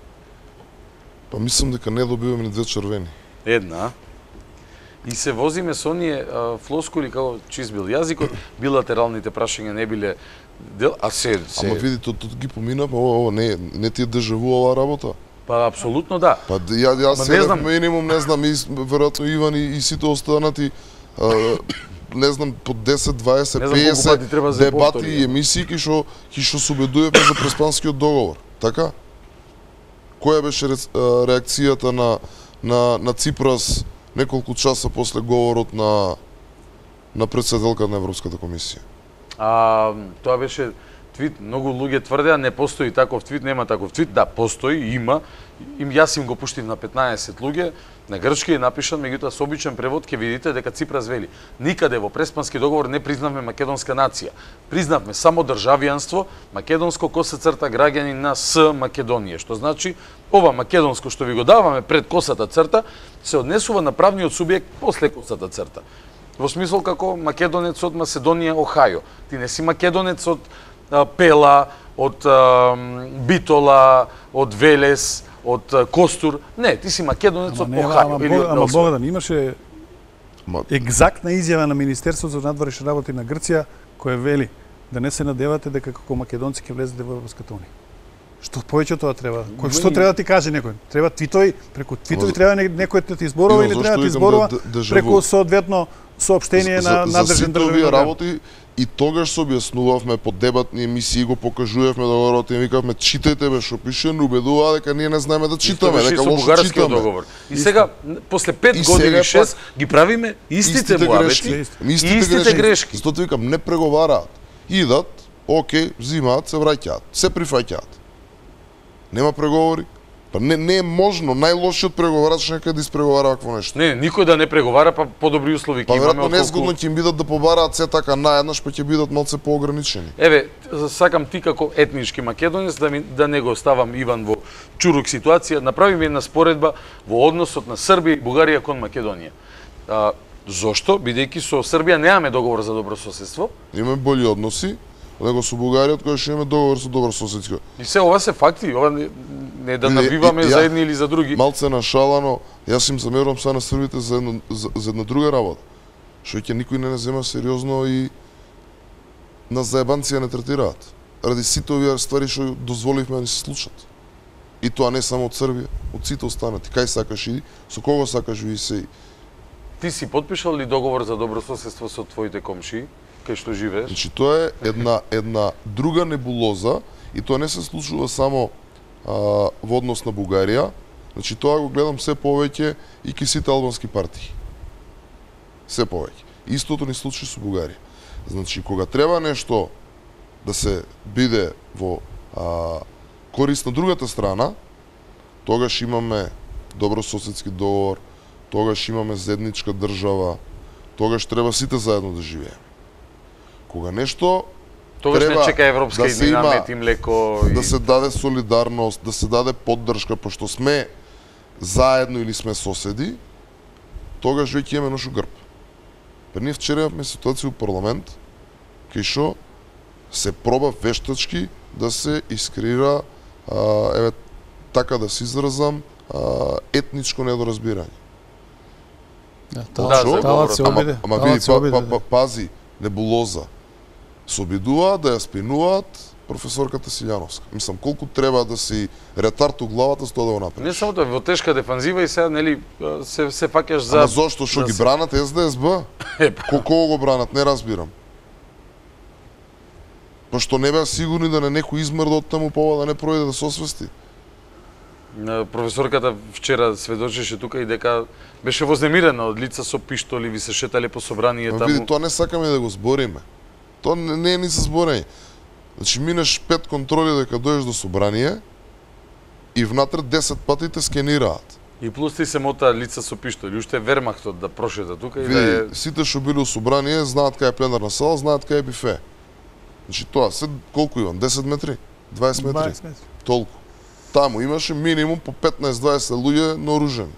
Па мислам дека не добиваме ни две червени. Една. И се возиме со оние а, флоскули како чист бил јазикот, билатералните прашања не биле дел, а се се Ама види, тоа ги помина, па ова, ова не не ти е дежаву оваа работа. Па апсолутно да. Па ја ја Ма се не знам. минимум не знам и веројатно Иван и, и сите останати а, не знам по десет, дваесет, Не знам колку песет пати треба да се дебати повтори, и емисии ки што ки што се убедуваме за преспанскиот договор. Така? Која беше ре, а, реакцијата на на на Ципрас неколку часа после говорот на на председателка на Европската комисија? А, тоа беше твит, многу луѓе тврдеа не постои таков твит, нема таков твит. Да, постои, има. Им јас им го пуштив на петнаесет луѓе, на грчки е напишан, меѓутоа со обичен превод ќе видите дека Ципрас вели: никаде во Преспански договор не признавме македонска нација. Признавме само државјанство, македонско коса црта граѓани на С Македонија, што значи ова македонско што ви го даваме пред косата црта се однесува на правниот субјект после косата црта. Во смисол како македонец од Маседонија, Охајо. Ти не си македонец од а, Пела, од а, Битола, од Велес, од а, Костур. Не, ти си македонец од Охајо. Ама, или од ама Белскрад. Богдан, имаше Ма, екзактна изјава на Министерството за надворешни работи на Грција, која вели да не се надевате дека како македонци ќе влезете во Европската унија. Што повеќе тоа треба? Кој што треба да ти каже некој? Треба твитови, преку твитови Ма, треба некој да ти изборува Иван, или зашто треба да ти викам изборува да- да- дежаву? преку соодветно соопштение за, на за надржен сите овие државен орган? работи и тогаш се објаснувавме по дебатни емисии, го покажувавме договорот и викавме читајте бе што пише, не убедува дека ние не знаеме да читаме, Исто беше и дека со лошо бугарскиот читаме. договор. И сега после пет И години сега шест ги правиме истите Истите муабети, грешки, и истите, истите грешки. грешки. Затоа викам не преговараат. Идат, окей, взимаат, се враќаат, се прифаќаат. Нема преговори. Па не не е можно, најлошиот преговарач нека да испреговара вакво нешто. Не, никој да не преговара, па подобри услови Па ќе имаме веројатно отколку... незгодно ќе им бидат да побараат се така наеднаш, па ќе бидат малце поограничени. Еве, сакам ти како етнички македонец да, ми, да не го оставам Иван во чурук ситуација, направи ми една споредба во односот на Србија и Бугарија кон Македонија. А, зошто? Бидејќи со Србија немаме договор за добрососедство, Имаме болji односи, него со Бугарија, која што имаме договор со добрососедско. и се ова се факти, ова не, не да Не, навиваме и- за ја- едни или за други. Малце нашалано, јас им замерувам са на србите за една, за, за една друга работа. Што ќе никој не не зема сериозно и на заебанција не третираат. Ради сите овие ствари што дозволивме да ни се случат. И тоа не само од Србија, од сите останати. Кај сакаш иди, со кого сакаш ви се. Ти си подпишал ли договор за добрососедство со твоите комшии, кај што живееш? Значи тоа е една една друга небулоза и тоа не се случува само а, во однос на Бугарија. Значи тоа го гледам се повеќе и ки сите албански партии. Се повеќе. Истото ни случи со Бугарија. Значи кога треба нешто да се биде во а, корист на другата страна, тогаш имаме добрососедски договор, тогаш имаме заедничка држава, тогаш треба сите заедно да живееме. Кога нешто Тогаш не треба чека европска да се иднина, има- мет и млеко и... да се даде солидарност, да се даде поддршка, пошто сме заедно или сме соседи, тогаш веќе имаме нашо грб. Па ние вчера имавме ситуација во парламент, кај што се проба вештачки да се искреира, а, еве, така да се изразам, а, етничко недоразбирање. Да, Да, талат, за талат се ама, обиде. ама талат види, се па, обиде, па, да. па, пази, небулоза. Се обидуваат да ја спинуваат професорката Силјановска. Мислам, колку треба да си ретард у главата со тоа да го направиш. Не само тоа, во тешка дефанзива и сега, нели, се, се фаќаш за... Ама зошто, што да ги се- бранат Ес Де Ес Б? Е, па, Ко кого го бранат, не разбирам. Па што не беа сигурни да не некој измрда од таму, па ова да не пројде да се освести. на професорката вчера сведочеше тука и дека беше вознемирена од лица со пиштоли, ви се шетале по собрание Ма таму. види, тоа не сакаме да го збориме. Тоа не, не е ни за зборење. Значи минеш пет контроли дека дојдеш до собрание и внатре десет пати те скенираат. И плюс ти се мота лица со пиштоли, уште вермахтот да прошета тука и Види, да е... сите што биле у собрание знаат кај е пленарна сала, знаат кај е бифе. Значи тоа се колку имам? десет метри? дваесет метри? дваесет метри. Толку. Таму имаше минимум по петнаесет-дваесет луѓе наоружени.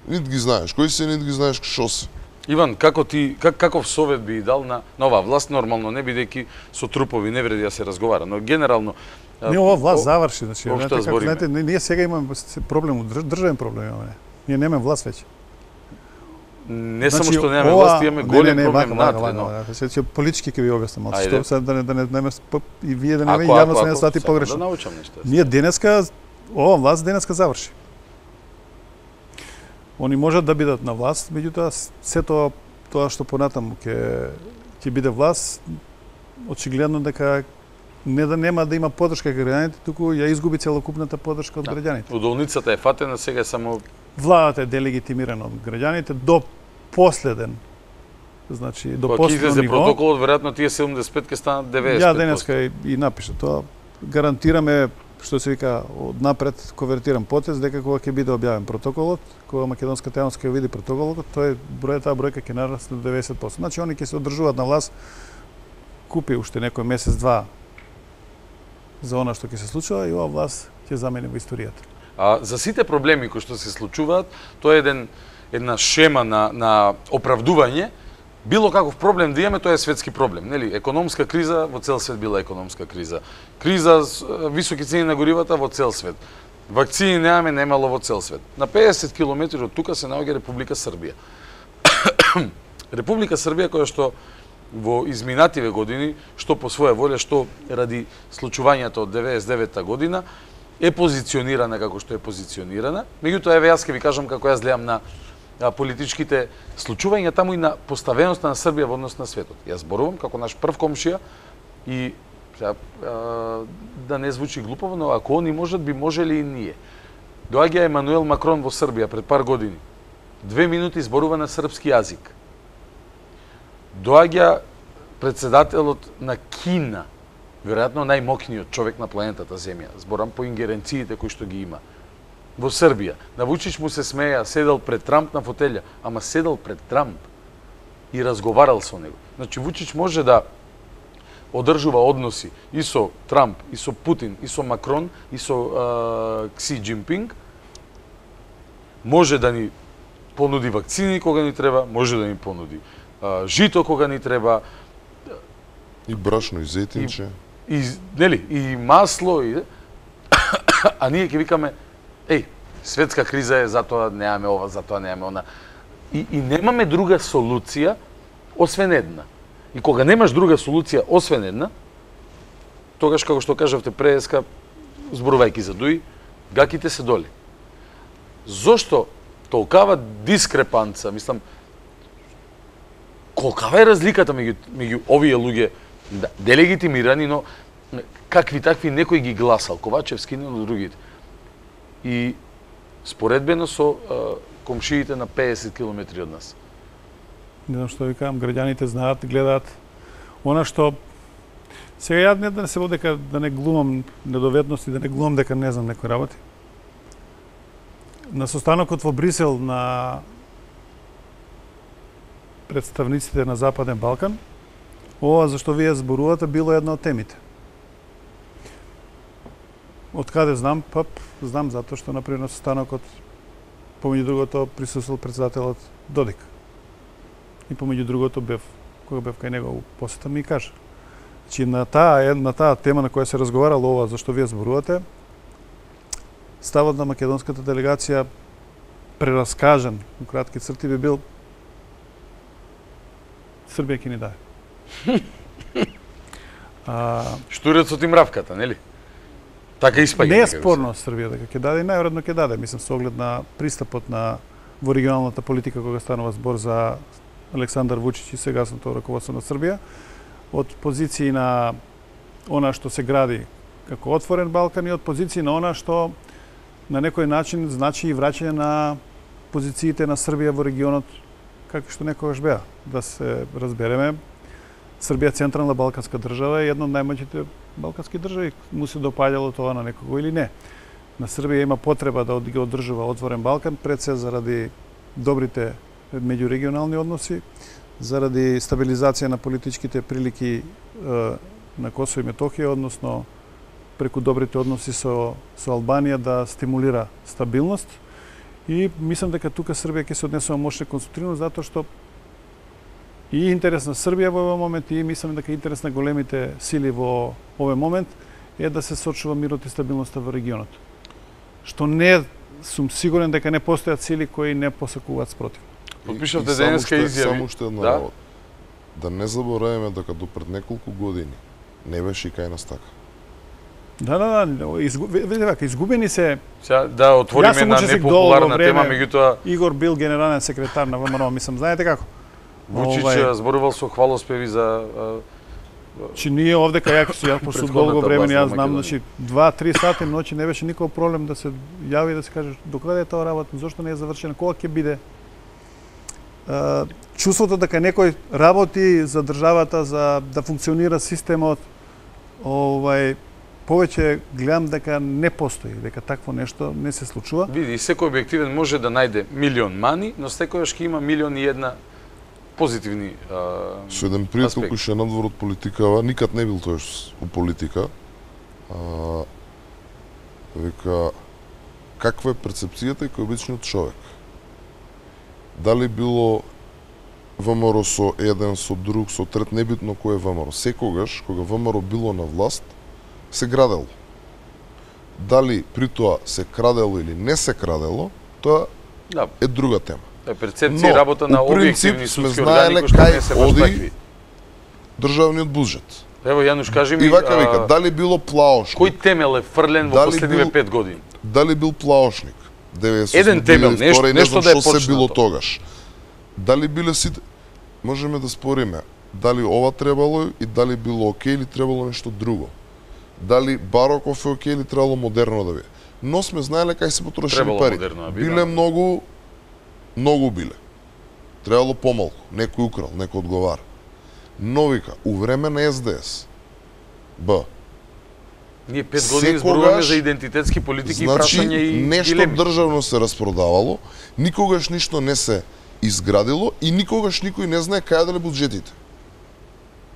Нит ги знаеш кои се, нит ги знаеш што се. Иван, како ти как, каков совет би дал на на оваа власт, нормално не бидејќи со трупови не вреди да се разговара, но генерално Не, ова власт заврши, значи, Општо знаете, како, збориме. знаете, ние сега имаме проблем, држ- државен проблем имаме. Ние немаме власт веќе. не само Значи, што немаме ова- власт, имаме не, голем не, не, проблем вака, вака, внатре, но вака, вака. Се политички ќе ви објаснам малку, Ајде. што сега да не да не да не п- и вие да не ако ме ако јавно се не ако свати сакам погрешно. Да научам нешто. Ние денеска ова власт денеска заврши. Они можат да бидат на власт, меѓутоа се тоа тоа што понатаму ќе ќе биде власт, очигледно дека не да нема да има поддршка кај граѓаните, туку ја изгуби целокупната поддршка од Да. граѓаните. Удолницата е фатена, сега е само Владата е делегитимирана од граѓаните до последен, значи до кога ќе последно излезе ниво. протоколот, веројатно тие седумдесет и пет ќе станат деведесет и пет. Ја денеска и, и напиша тоа. Гарантираме, што се вика, од напред конвертирам потез, дека кога ќе биде објавен протоколот, кога македонската јавност ќе види протоколот, тој број таа бројка ќе нарасне до деведесет проценти. Значи они ќе се одржуваат на власт, купи уште некој месец два за она што ќе се случува и ова власт ќе замени во историјата. А за сите проблеми кои што се случуваат, тоа е еден една шема на на оправдување. Било каков проблем да имаме, тоа е светски проблем, нели? Економска криза, во цел свет била економска криза. Криза с е, високи цени на горивата во цел свет. Вакцини немаме, немало во цел свет. На педесет километри од тука се наоѓа Република Србија. Република Србија која што во изминативе години, што по своја волја, што ради случувањата од деветдесет и девета година, е позиционирана како што е позиционирана. Меѓутоа, еве јас ќе ви кажам како јас гледам на а, политичките случувања таму и на поставеноста на Србија во однос на светот. Јас зборувам како наш прв комшија и сега, а, да не звучи глупово, но ако они можат, би можели и ние. Доаѓа Емануел Макрон во Србија пред пар години. Две минути зборува на српски јазик. Доаѓа председателот на Кина, веројатно најмокниот човек на планетата Земја, зборам по ингеренциите кои што ги има. Во Србија, на Вучич му се смеја, седел пред Трамп на фотелја, ама седел пред Трамп и разговарал со него. Значи Вучич може да одржува односи и со Трамп, и со Путин, и со Макрон, и со а, Кси Џинпинг, може да ни понуди вакцини кога ни треба, може да ни понуди а, жито кога ни треба, И брашно, и зетинче. и нели и масло и а ние ќе викаме еј, светска криза е, затоа немаме ова, затоа немаме она. И, и немаме друга солуција освен една. И кога немаш друга солуција освен една, тогаш како што кажавте преска, зборувајќи за Дуи, гаките се доли. Зошто толкава дискрепанца, мислам, колкава е разликата меѓу меѓу овие луѓе, да, делегитимирани, но какви такви некој ги гласал, Ковачевски, но другите. И споредбено со а, комшиите на педесет километри од нас. Не знам што ви кажам, граѓаните знаат, гледаат. Она што сега ја не да се води дека да не глумам недоветности, да не глумам дека не знам некои работи. На состанокот во Брисел на представниците на Западен Балкан, ова зашто вие зборувате било една од темите. Од каде знам? Па знам затоа што например на состанокот помеѓу другото присуствувал председателот Додик. И помеѓу другото бев кога бев кај него посета ми кажа. Значи на таа на таа тема на која се разговарало ова зашто вие зборувате, ставот на македонската делегација прераскажан во кратки црти би бил Србија ќе ни даде. а, Штурецот и мравката, нели? Така испаѓа. не е нека би се. спорно Србија дека ќе даде и најверојатно ќе даде, мислам со оглед на пристапот на во регионалната политика кога станува збор за Александар Вучич и сегасното раководство на Србија, од позиции на она што се гради како отворен Балкан и од позиции на она што на некој начин значи и враќање на позициите на Србија во регионот како што некогаш беа. Да се разбереме, Србија централна балканска држава е една од најмоćните балкански држави. Му се допаѓало тоа на некого или не. На Србија има потреба да ги одржува отворен Балкан, пред се заради добрите меѓурегионални односи, заради стабилизација на политичките прилики е, на Косово и Метохија, односно преку добрите односи со, со Албанија да стимулира стабилност. И мислам дека тука Србија ќе се однесува мощно конструктивно, затоа што и интерес на Србија во овој момент и мислам дека интерес на големите сили во овој момент е да се сочува мирот и стабилноста во регионот. Што не сум сигурен дека не постојат сили кои не посакуваат спротив. Подпишавте денеска изјави. Само што една да? работа. Да не забораваме дека до пред неколку години не беше и кај нас така. Да, да, да, изгу... видите вака, изгубени се. Сега да отвориме една непопуларна тема, меѓутоа Игор бил генерален секретар на ВМРО, мислам, знаете како? Вучич Овај... зборувал со хвалоспеви за Чи ние овде кај јако си ја после долго време јас знам, значи два-три сати ноќи не беше никој проблем да се јави и да се каже докаде е тоа работа, зошто не е завршена, кога ќе биде. Uh, чувството дека некој работи за државата, за да функционира системот, овај повеќе гледам дека не постои, дека такво нешто не се случува. Види, секој објективен може да најде милион мани, но секојаш ќе има милион и една позитивни а, Со еден пријател кој ше надвор од политикава, никад не бил тој у политика. А, века каква е перцепцијата и кој обичниот човек? Дали било ВМРО со еден, со друг, со трет, небитно кој е ВМРО. Секогаш, кога ВМРО било на власт, се градело. Дали при тоа се крадело или не се крадело, тоа да. е друга тема. Е перцепција и работа на објективни судски органи кои што не се баш такви. Државниот буџет. Ево Јануш, кажи ми, и вака вика, дали било плаошник? Кој темел е фрлен во последниве пет години? Дали бил плаошник? деветдесет Еден темел, нешто, нешто да е почнато. Се било тогаш. Дали биле сите... Можеме да спориме дали ова требало и дали било окей или требало нешто друго. Дали Бароков е окей или требало модерно да биде. Но сме знаеле кај се потрошени пари. Да биле многу, многу биле. Требало помалку. Некој украл, некој одговара. Но вика, у време на Ес Де Ес, Б, ние пет години зборуваме за идентитетски политики значи, и прашање и нешто дилеми. државно се распродавало, никогаш ништо не се изградило и никогаш никој не знае кај да ле буџетите.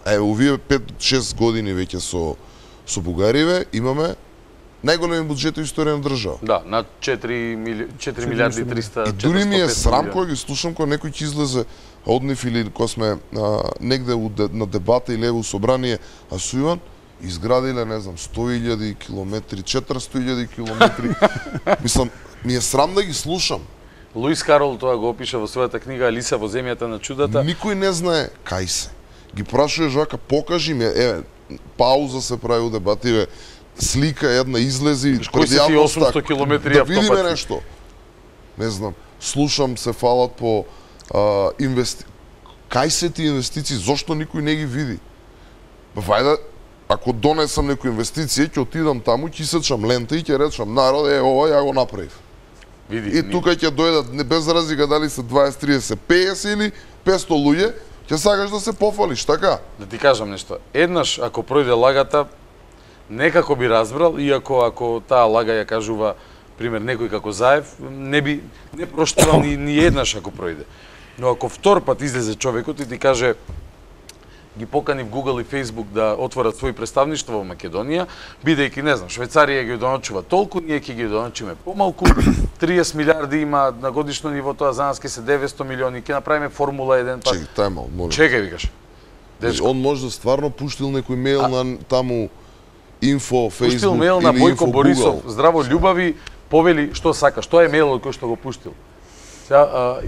Е, овие пет-шест години веќе со со Бугариве имаме најголеми буџети во историја на држава. Да, на четири милиарди и триста И дури ми е срам кога ги слушам кога некој ќе излезе од нив или кога сме а, негде у, на дебата или у собрание, а со Иван изградиле, не знам, сто илјади километри, четиристотини илјади километри. Мислам, ми е срам да ги слушам. Луис Карол тоа го опиша во својата книга Алиса во земјата на чудата. Никој не знае кај се. Ги прашуваш вака, покажи ми, еве, пауза се прави у дебативе, слика една излези пред јавноста, осумсто километри да видиме нешто. Не знам, слушам се фалат по а, инвести... Кај се ти инвестиции, зошто никој не ги види? Вајде, ако донесам некој инвестиција, ќе отидам таму, ќе исечам лента и ќе речам народ, е, ова ја го направив. Види, и тука ќе дојдат, не без разлика дали се дваесет, тридесет, песет или песто луѓе, ќе сакаш да се пофалиш, така? Да ти кажам нешто. Еднаш, ако пројде лагата, некако би разбрал, иако ако таа лага ја кажува, пример, некој како Заев, не би не проштувал ни, ни еднаш ако пројде. Но ако втор пат излезе човекот и ти каже, ги покани в Google и Facebook да отворат своји представништва во Македонија, бидејќи, не знам, Швајцарија ги доночува толку, ние ќе ги доночиме помалку, триесет милиарди има на годишно ниво, тоа за нас ќе се деветсто милиони, ќе направиме Формула еден пат. Чекај, тај мал, молим. Чекај, викаш. Дечко. Он може да стварно пуштил некој мејл а... на таму инфо, Facebook пуштил мејл на Бојко Борисов, Google. здраво љубави, повели што сакаш. Тоа е мејлот кој што го пуштил. Сега,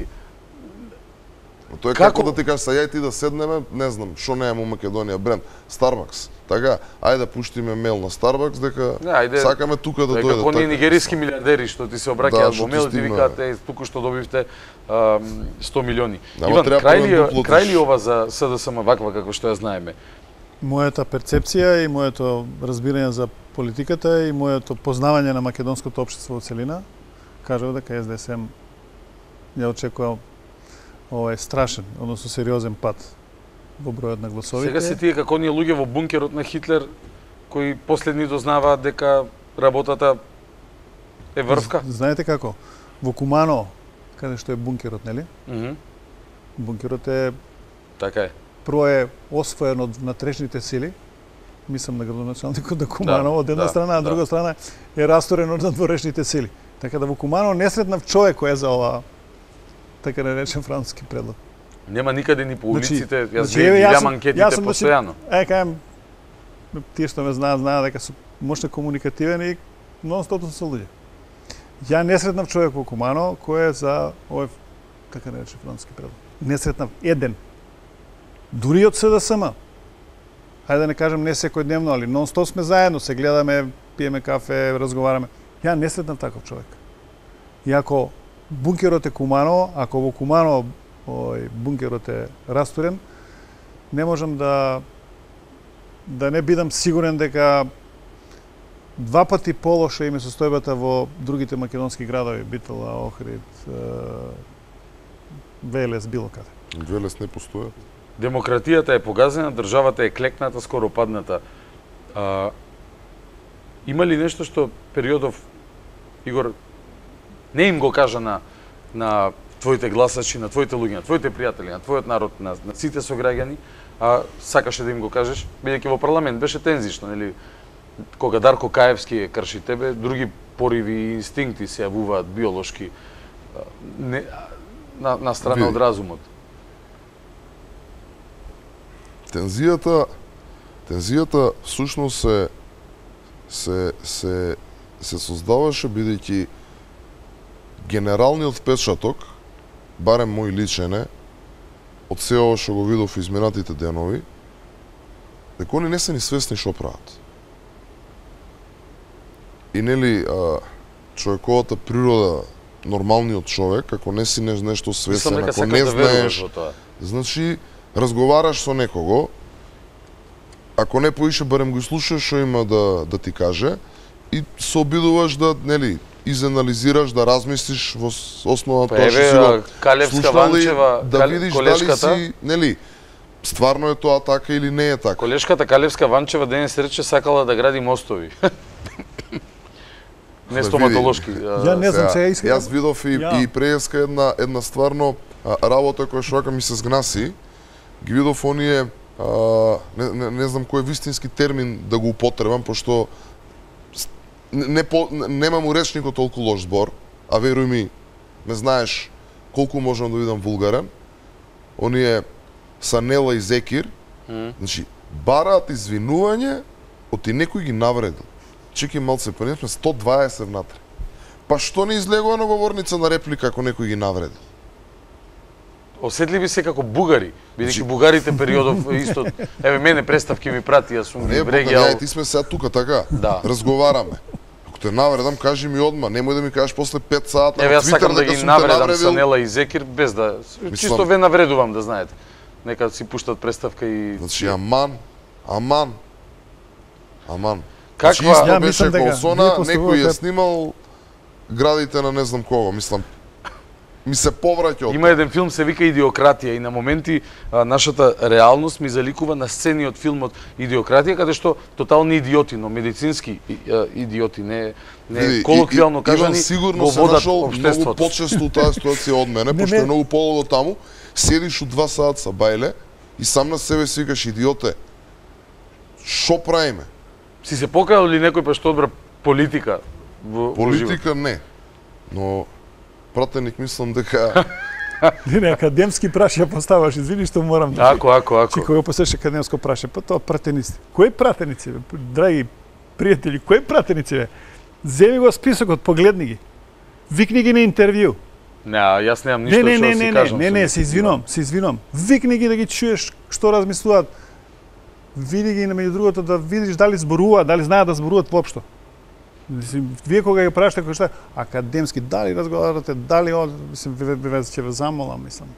Тоа е како, како да ти кажеш, ја и ти да седнеме, не знам, што немаме у Македонија бренд, Starbucks. Така, ајде да пуштиме мејл на Starbucks дека не, ајде, сакаме тука да дојдат. Како оние нигериски милиардери што ти се обраќаат да, во мејл и ти викаат е туку што добивте а, сто милиони. Ама Иван, крај ли, крај ли платиш. ова за С Д С М ваква како што ја знаеме? Мојата перцепција и моето разбирање за политиката и моето познавање на македонското општество во целина кажува дека Ес Де Ес Ем ја очекува овој страшен, односно сериозен пат во бројот на гласовите. Сега се тие како оние луѓе во бункерот на Хитлер кои последни дознаваат дека работата е врвка. Знаете како? Во Кумано, каде што е бункерот, нели? Mm -hmm. Бункерот е така е. Прво е освоен од внатрешните сили, мислам на градоначалникот на Кумано, да, од една да, страна, а да. друга страна е расторен од надворешните сили. Така да во Кумано не сретнав човек кој е за ова, така да речем, француски предлог. Нема никаде ни по улиците, јас значи, ги еве, гледам сум- анкетите јас сум, значи, постојано. Е, кажам, тие што ме знаат, знаат дека сум мощно комуникативен и нон-стоп со луѓе. Ја не сретнав човек во Кумано кој е за овој, како нарече француски превод. Не сретнав еден. Дури од СДСМ. Хајде да не кажам не секојдневно, али нон-стоп сме заедно, се гледаме, пиеме кафе, разговараме. Ја не сретнав таков човек. И ако бункерот е Кумано, ако во Кумано ој бункерот е растурен, не можам да да не бидам сигурен дека два пати полоша име состојбата во другите македонски градови, Битола, Охрид, Велес, било каде. Велес не постоја. Демократијата е погазена, државата е клекната, скоро падната. А, има ли нешто што периодов, Игор, не им го кажа на, на твоите гласачи, на твоите луѓе, на твоите пријатели, на твојот народ, на, на сите сограѓани, а сакаше да им го кажеш, бидејќи во парламент беше тензично, нели? Кога Дарко Каевски крши тебе, други пориви и инстинкти се јавуваат биолошки не, на, на страна од разумот. Тензијата, тензијата всушност се се се се создаваше бидејќи генералниот впечаток, барем мој личен е, од се ова што го видов изминатите денови, дека они не се ни свесни што прават. И нели а, човековата природа, нормалниот човек, ако не си нешто свесен, Мислам, ако не да знаеш, во тоа. значи разговараш со некого, ако не поише барем го слушаш што има да да ти каже и се обидуваш да, нели, изанализираш, да размислиш во основа на Па тоа што еве, си го Калевска слушнал и Ванчева, да Кал- видиш колешката, дали си, нели, стварно е тоа така или не е така. колешката Калевска Ванчева денес рече сакала да гради мостови. Не стоматолошки. Ја не знам, сега искам. Јас видов и, Ја. и преска една една стварно а, работа која што вака ми се згнаси. Ги видов оние а, не, не, не знам кој е вистински термин да го употребам, пошто с- не, не по, немам у речникот толку лош збор, а веруј ми, ме знаеш колку можам да видам вулгарен. Оние Санела и Зекир, М. значи бараат извинување од ти некој ги навредил. Чеки малце, па ние сме сто дваесет внатре. Па што не излегува на говорница на реплика ако некој ги навредил? Осетливи се како бугари, бидејќи Значи- бугарите периодов исто, еве мене представки ми прати, јас сум ги Не, брегјал. ја ти сме сега тука така. Да. Разговараме. Ако те навредам, кажи ми одма, немој да ми кажеш после пет сата Еве на јас сакам Твитер да дека ги сум те навредам навредил. Санела и Зекир без да чисто ве навредувам да знаете. Нека си пуштат представка и Значи аман, аман. Аман. Каква- Значи, исто Ја беше мислам дека Колсона, вие некој поставувате- ја снимал градите на не знам кого, мислам. Ми се повраќа од Има еден филм се вика Идиократија и на моменти а, нашата реалност ми заликува на сцени од филмот Идиократија каде што тотални идиоти, но медицински и- а, идиоти, не не Види, колоквијално и- и- кажани, Иван сигурно го се водат нашол многу општеството. почесто у таа ситуација од мене, Не, пошто не. е многу полого таму, седиш у два саат са бајле и сам на себе си викаш идиоте. Шо правиме? Си се покајал ли некој па што одбра политика во во живот? Политика не. Но пратеник мислам дека Не, не, академски прашања поставаш, извини што морам да... Ако, ако, ако. Чи кога посеш академско прашање, па тоа пратеници. Кои пратеници, бе? Драги пријатели, кои пратеници, бе? Земи го списокот, погледни ги. Викни ги на интервју. Не, јас немам Не, ништо не, што не, да си не, не, кажам. не, со не, нив. се извинувам, се извинувам. Викни ги да ги чуеш што размислуваат. Види ги, меѓу другото, да видиш дали зборуваат, дали знаат да зборуваат воопшто. Мислим, вие кога ги прашате кој што е академски, дали разговарате, дали од, мислим, ве, ве, ве, ќе ве замолам, мислам.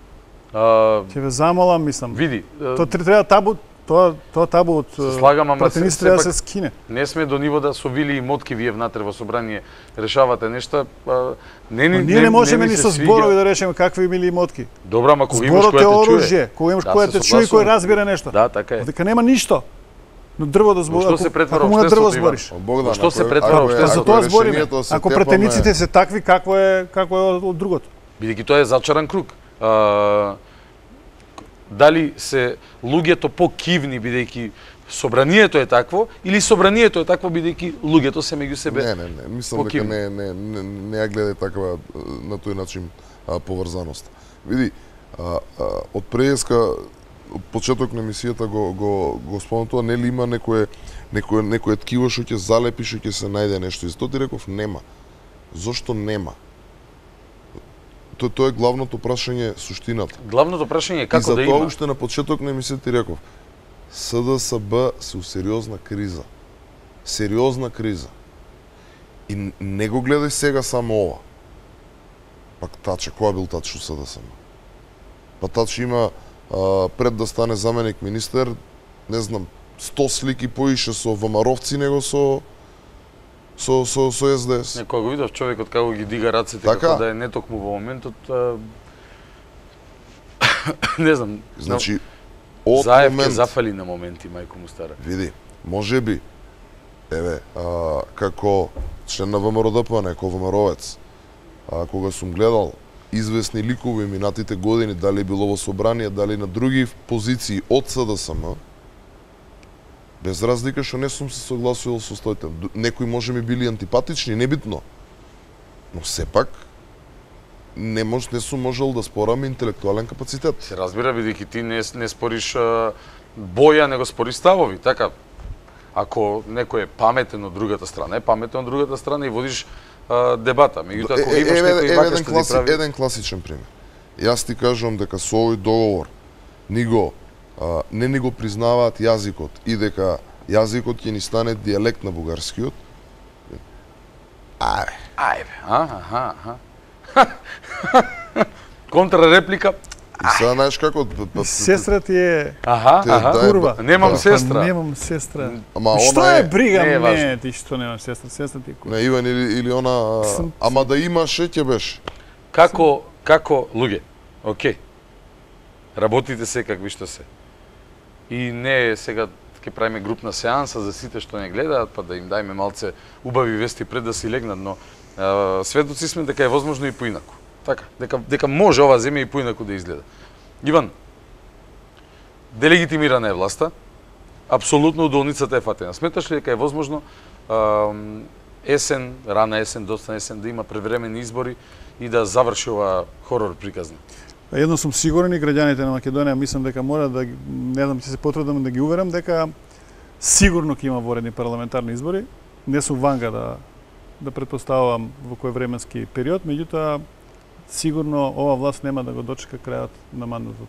А, Ќе ве замолам, мислам. види, а, Тоа тре- треба табу, тоа тоа табу од Се слагам, ама пратеници се- треба да сепак- се скине. не сме до ниво да со вили и мотки вие внатре во собрание решавате нешта. А, не, ни- Но ние не можеме ми ни се со свиѓа. зборови да решиме какви мили мотки. Добра, ама кога имаш Зборот која е те чуе. оружје, кога имаш Да, која се те чуе и кој согласувам. разбира нешто. Да, така е. Дека нема ништо. Но дрво да збориш. што се претвара ако му на дрво општеството, Иван? збориш. Богдан, Што се ако е- претвара ако е- општеството? За ако е тоа збориме. решението да се Ако тепаме- пратениците се такви, какво е како е од, од другото? Бидејќи тоа е зачаран круг. А, дали се луѓето покивни бидејќи собранието е такво или собранието е такво бидејќи луѓето се меѓу себе. Не, не, не, мислам дека покивни. не не не не ја гледај таква а, на тој начин а, поврзаност. Види, А, а, од преска почеток на емисијата го го го спомнам тоа, нели има некое некое некое ткиво што ќе залепи, што ќе се најде нешто. И затоа ти реков нема. Зошто нема? Тоа тоа е главното прашање, суштината. Главното прашање е како да има. И затоа уште на почеток на емисијата ти реков, С Д С Б се у сериозна криза. Сериозна криза. И не го гледај сега само ова. Пак Таче, која бил Таче у С Д С М? Па Таче има а, пред да стане заменик министер, не знам, сто слики поише со ВМРО-вци него со со со со С Д С. Не, кога го видов човекот како ги дига рацете, така? Како да е нетокму во моментот, а... не знам. Значи, од Заев момент... ке зафали на моменти, мајко му стара. Види, може би, еве, а, како член на ВМРО Д П Н, како ВМРО-вец, а, кога сум гледал известни ликови минатите години, дали било во собрание, дали на други позиции од С Д С М, без разлика што не сум се согласувал со стоите. Некои може ми били антипатични, небитно. Но сепак, не мож, не сум можел да спорам интелектуален капацитет. Се разбира, бидејќи ти не, не спориш а, боја, него спориш ставови, така? Ако некој е паметен од другата страна, е паметен од другата страна и водиш а, дебата. Меѓутоа, ако имаш некој вака што ти прави... Еден класичен пример. Јас ти кажувам дека со овој договор ни го а, не ни го признаваат јазикот и дека јазикот ќе ни стане дијалект на бугарскиот. Ајде. Ајде, а, аха, аха. Контрареплика. И сега знаеш како... Сестра ти е... Аха, Те, аха. да, Курва. Немам да. сестра. Па, немам сестра. Ама Што она е е... брига Не е важно. не, ти што немаш сестра? Сестра ти е курва. Не, Иван или, или она... Сам- Ама да имаше, ќе беше. Како, како луѓе, окей, работите се какви што се. И не е сега ќе правиме групна сеанса за сите што не гледаат, па да им дајме малце убави вести пред да си легнат, но а, светоци сме дека е возможно и поинаку. Така, дека, дека може ова земја и поинаку да изгледа. Иван, делегитимирана е власта, апсолутно удолницата е фатена. Сметаш ли дека е возможно а, есен, рана есен, доста есен, да има превременни избори и да заврши ова хорор приказна? Едно сум сигурен и граѓаните на Македонија мислам дека мора да ги- не знам ќе се потрудам да ги уверам дека сигурно ќе има воредни парламентарни избори. Не сум ванга да да претпоставувам во кој временски период, меѓутоа сигурно ова власт нема да го дочека крајот на мандатот.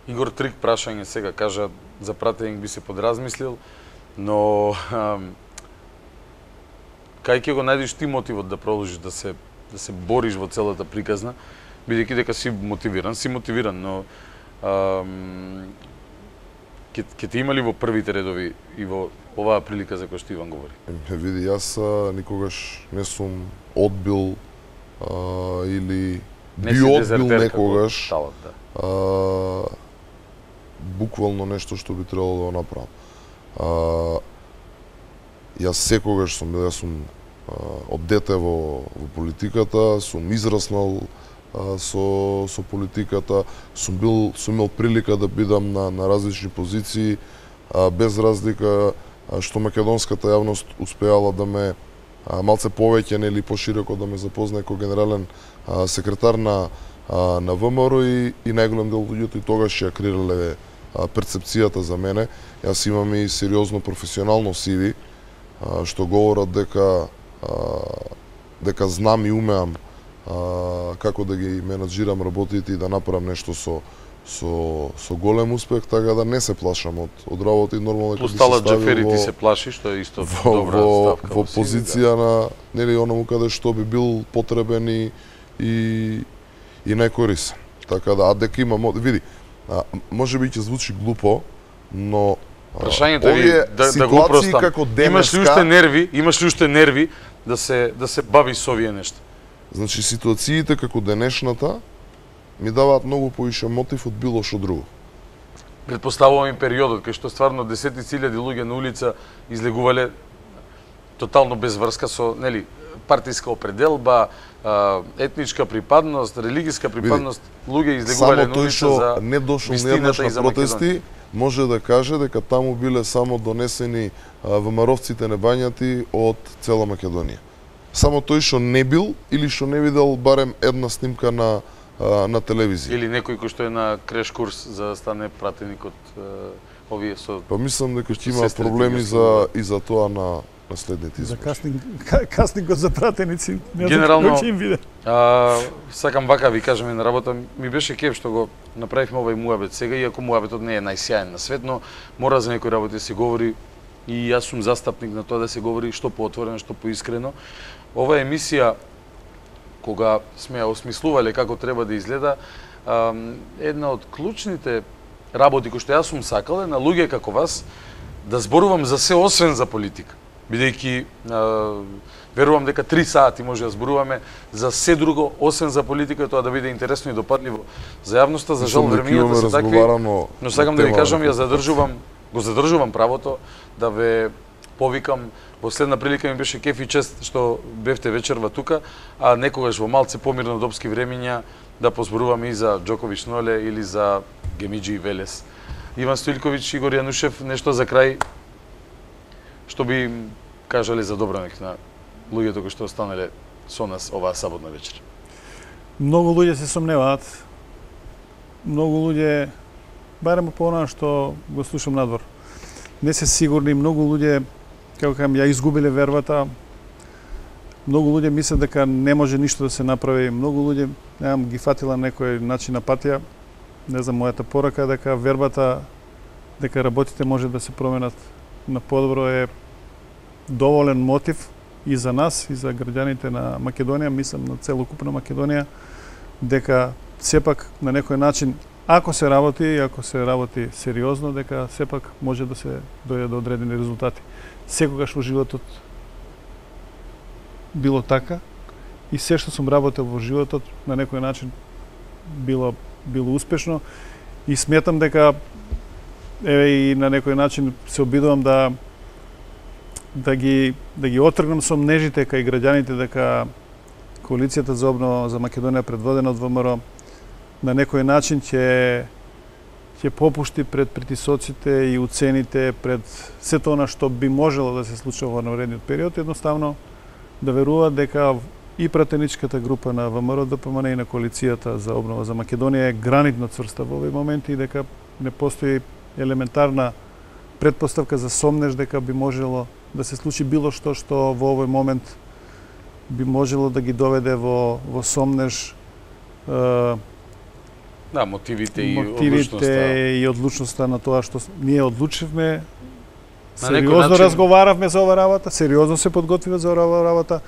Игор Трик прашање сега кажа за пратење би се подразмислил, но ам, кај ќе го најдеш ти мотивот да продолжиш да се да се бориш во целата приказна, бидејќи дека си мотивиран, си мотивиран, но ам, ќе ќе ти има ли во првите редови и во оваа прилика за која што Иван говори? Е, види, јас а, никогаш не сум одбил а, или Не би си одбил дезертер некогаш како талат, да. а, буквално нешто што би требало да го направам. А, јас секогаш сум бил, јас сум а, од дете во, во политиката, сум израснал а, со со политиката, сум бил сум имал прилика да бидам на на различни позиции, а, без разлика а, што македонската јавност успеала да ме а, малце повеќе или пошироко да ме запознае како генерален а, секретар на а, на В М Р и, и најголем дел луѓето и тогаш ја креирале а, перцепцијата за мене. Јас имам и сериозно професионално Си Ви, а, што говорат дека а, дека знам и умеам а, како да ги менаџирам работите и да направам нешто со со со голем успех, така да не се плашам од од работи, нормално Плюс би се Талат ставил Џафери ти во- се плаши, што е исто во, добра во, ставка. во Си Ви, позиција на нели оному каде што би бил потребен и и, и најкорисен. Така да, а дека има мо- види, а, може би ќе звучи глупо, но а, Прашањето е овие да, да го ситуации упростам. како Имаш ли денеска, уште нерви, имаш ли уште нерви да се да се бавиш со овие нешта? значи ситуациите како денешната ми даваат многу поише мотив од било што друго. Предпоставувам и периодот кај што стварно десетици илјади луѓе на улица излегувале тотално без врска со, нели, партиска определба, а, етничка припадност, религиска припадност, луѓе излегувале Само на тој улица што за не дошол вистината нејаднаш и за на протести, може да каже дека таму биле само донесени ВМРО-вците небањати од цела Македонија. Само тој што не бил или што не видел барем една снимка на а, на телевизија. Или некој кој што е на креш курс за да стане пратеник од овие со... Па мислам дека ќе има сестрите проблеми ги за и за тоа на на следните За избори. кастинг, кастингот за пратеници, не Генерално, знам кој ќе им биде. А, сакам вака ви кажеме на работа, ми беше кеф што го направивме овој муабет сега, иако муабетот не е најсјаен на свет, но мора за некои работи да се говори и јас сум застапник на тоа да се говори што поотворено, што поискрено. Ова емисија, кога сме ја осмислувале како треба да изгледа, а, една од клучните работи кои што јас сум сакал е на луѓе како вас да зборувам за се освен за политика. Бидејќи верувам дека три сати може да зборуваме за се друго освен за политика и тоа да биде интересно и допадливо за јавноста, за жал времењата се такви. Но сакам да ви кажам, ја задржувам, го задржувам правото да ве повикам. Последна прилика ми беше кеф и чест што бевте вечерва тука, а некогаш во малце помирно допски времења да позборуваме и за Џоковиќ Ноле или за Гемиџи и Велес. Иван Стоилковиќ, Игор Јанушев, нешто за крај што би им кажале за добранек на луѓето кои што останале со нас оваа саботна вечер? Многу луѓе се сомневаат. Многу луѓе, барем по она што го слушам надвор, не се сигурни. Многу луѓе, како кажам, ја изгубиле вербата. Многу луѓе мислат дека не може ништо да се направи. Многу луѓе, немам, ги фатила некој начин на патија. Не знам, мојата порака е дека вербата, дека работите може да се променат на подобро е доволен мотив и за нас, и за граѓаните на Македонија, мислам на целокупна Македонија, дека сепак на некој начин, ако се работи, ако се работи сериозно, дека сепак може да се дојде до одредени резултати. Секогаш во животот било така и се што сум работел во животот на некој начин било било успешно и сметам дека еве и на некој начин се обидувам да да ги да ги отргнам со мнежите кај граѓаните дека коалицијата за обнова за Македонија предводена од ВМРО на некој начин ќе ќе попушти пред притисоците и уцените пред сето она што би можело да се случува во наредниот период, едноставно да веруваат дека и пратеничката група на ВМРО ДПМН и на коалицијата за обнова за Македонија е гранитно цврста во овој момент и дека не постои елементарна предпоставка за сомнеж дека би можело да се случи било што што во овој момент би можело да ги доведе во во сомнеж е, Да, мотивите и мотивите одлучноста. и одлучноста на тоа што ние одлучивме. На некој Сериозно начин- разговаравме за ова работа, сериозно се подготвивме за ова работа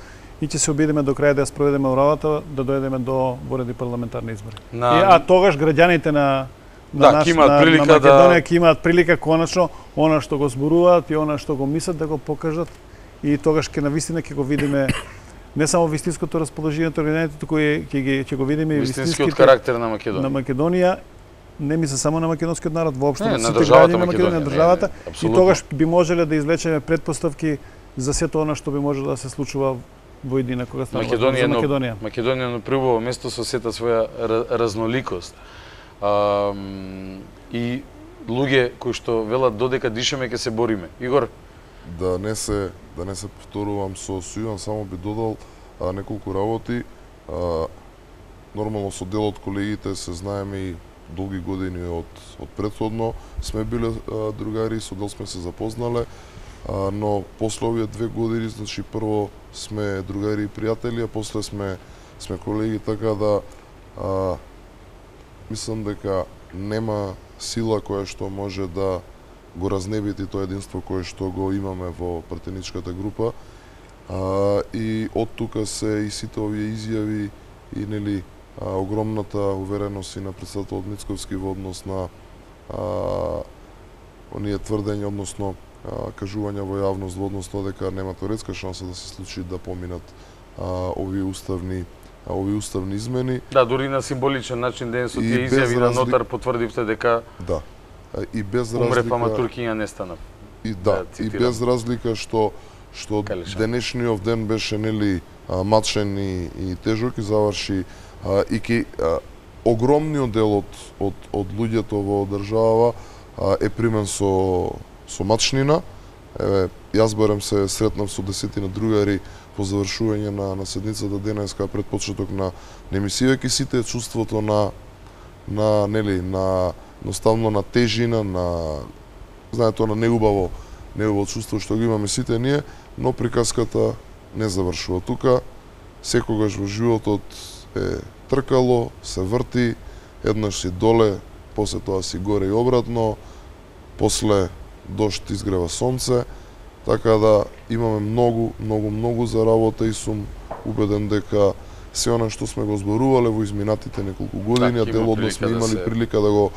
и ќе се обидеме до крај да ја спроведеме работа, да дојдеме до вореди парламентарни избори. На- И, а тогаш граѓаните на на, Да, наш, ќе имаат на, прилика на Македонија да- ќе имаат прилика конечно она што го зборуваат и она што го мислат да го покажат и тогаш ќе навистина ќе го видиме не само вистинското расположение на граѓаните, туку и ќе ги ќе го видиме и Вистинскиот вистинските карактер на Македонија. на Македонија, не мисля само на македонскиот народ, воопшто Не, на на сите државата граѓани на Македонија, Македонија, на не, државата, не, и апсолутно. тогаш би можеле да извлечеме предпоставки за сето она што би можело да се случува во едина кога станува Македонија, за но, Македонија. Македонија на прво место со сета своја ра- разноликост. А, и луѓе кои што велат додека дишеме ќе се бориме. Игор, Да не се да не се повторувам со Сујан, само би додал а, неколку работи. А, нормално со дел од колегите се знаеме и долги години од од претходно сме биле а, другари, со дел сме се запознале, а, но после овие две години, значи прво сме другари и пријатели, а после сме сме колеги, така да а, мислам дека нема сила која што може да го разнебити тоа единство кое што го имаме во пратеничката група. А, и од тука се и сите овие изјави и нели а, огромната увереност и на председателот Мицковски во однос на а, оние тврдења, односно а, кажувања во јавност во однос на дека нема теоретска шанса да се случи да поминат а, овие уставни а, овие уставни измени. да, дури на символичен начин ден со И тие без изјави на разли- нотар потврдивте дека Да. А, и без умре разлика фама Туркиња не стана. И Да, да, и цитирам. без разлика што што Калишан. денешниот ден беше нели а, мачен и, и тежок и заврши а, и ки а, огромниот дел од од од луѓето во држава а, е примен со со мачнина Еве, јас барем се сретнав со десетина другари по завршување на, на седницата денеска пред почеток на, на емисија, ке сите чувството на, на, нели, на, едноставно на тежина, на, знаете, на неубаво, неубаво чувство што го имаме сите ние, но приказката не завршува тука. Секогаш во животот е тркало, се врти, еднаш си доле, после тоа си горе и обратно, после дожд изгрева сонце, така да имаме многу, многу, многу за работа и сум убеден дека се она што сме го зборувале во изминатите неколку години, так, а делот сме имали да се... прилика да го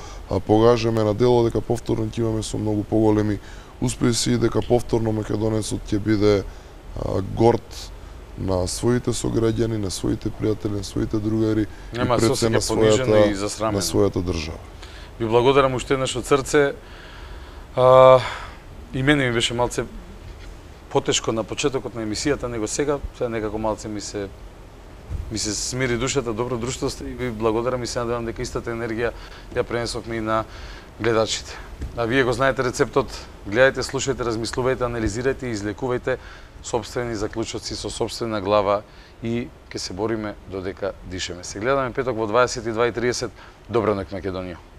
погажеме на дело, дека повторно ќе имаме со многу поголеми успеси и дека повторно македонецот ќе биде а, горд на своите сограѓани, на своите пријатели, на своите другари Нема, и пред се на својата, и на својата држава. Ви благодарам уште еднаш од срце. А, и мене ми беше малце потешко на почетокот на емисијата, него сега, сега некако малце ми се ми се смири душата, добро друштво сте и ви благодарам и се надевам дека истата енергија ја пренесовме и на гледачите. А вие го знаете рецептот, гледајте, слушајте, размислувајте, анализирајте и излекувајте сопствени заклучоци со сопствена глава и ќе се бориме додека дишеме. Се гледаме петок во дваесет и два и тридесет. Добра ноќ, Македонија.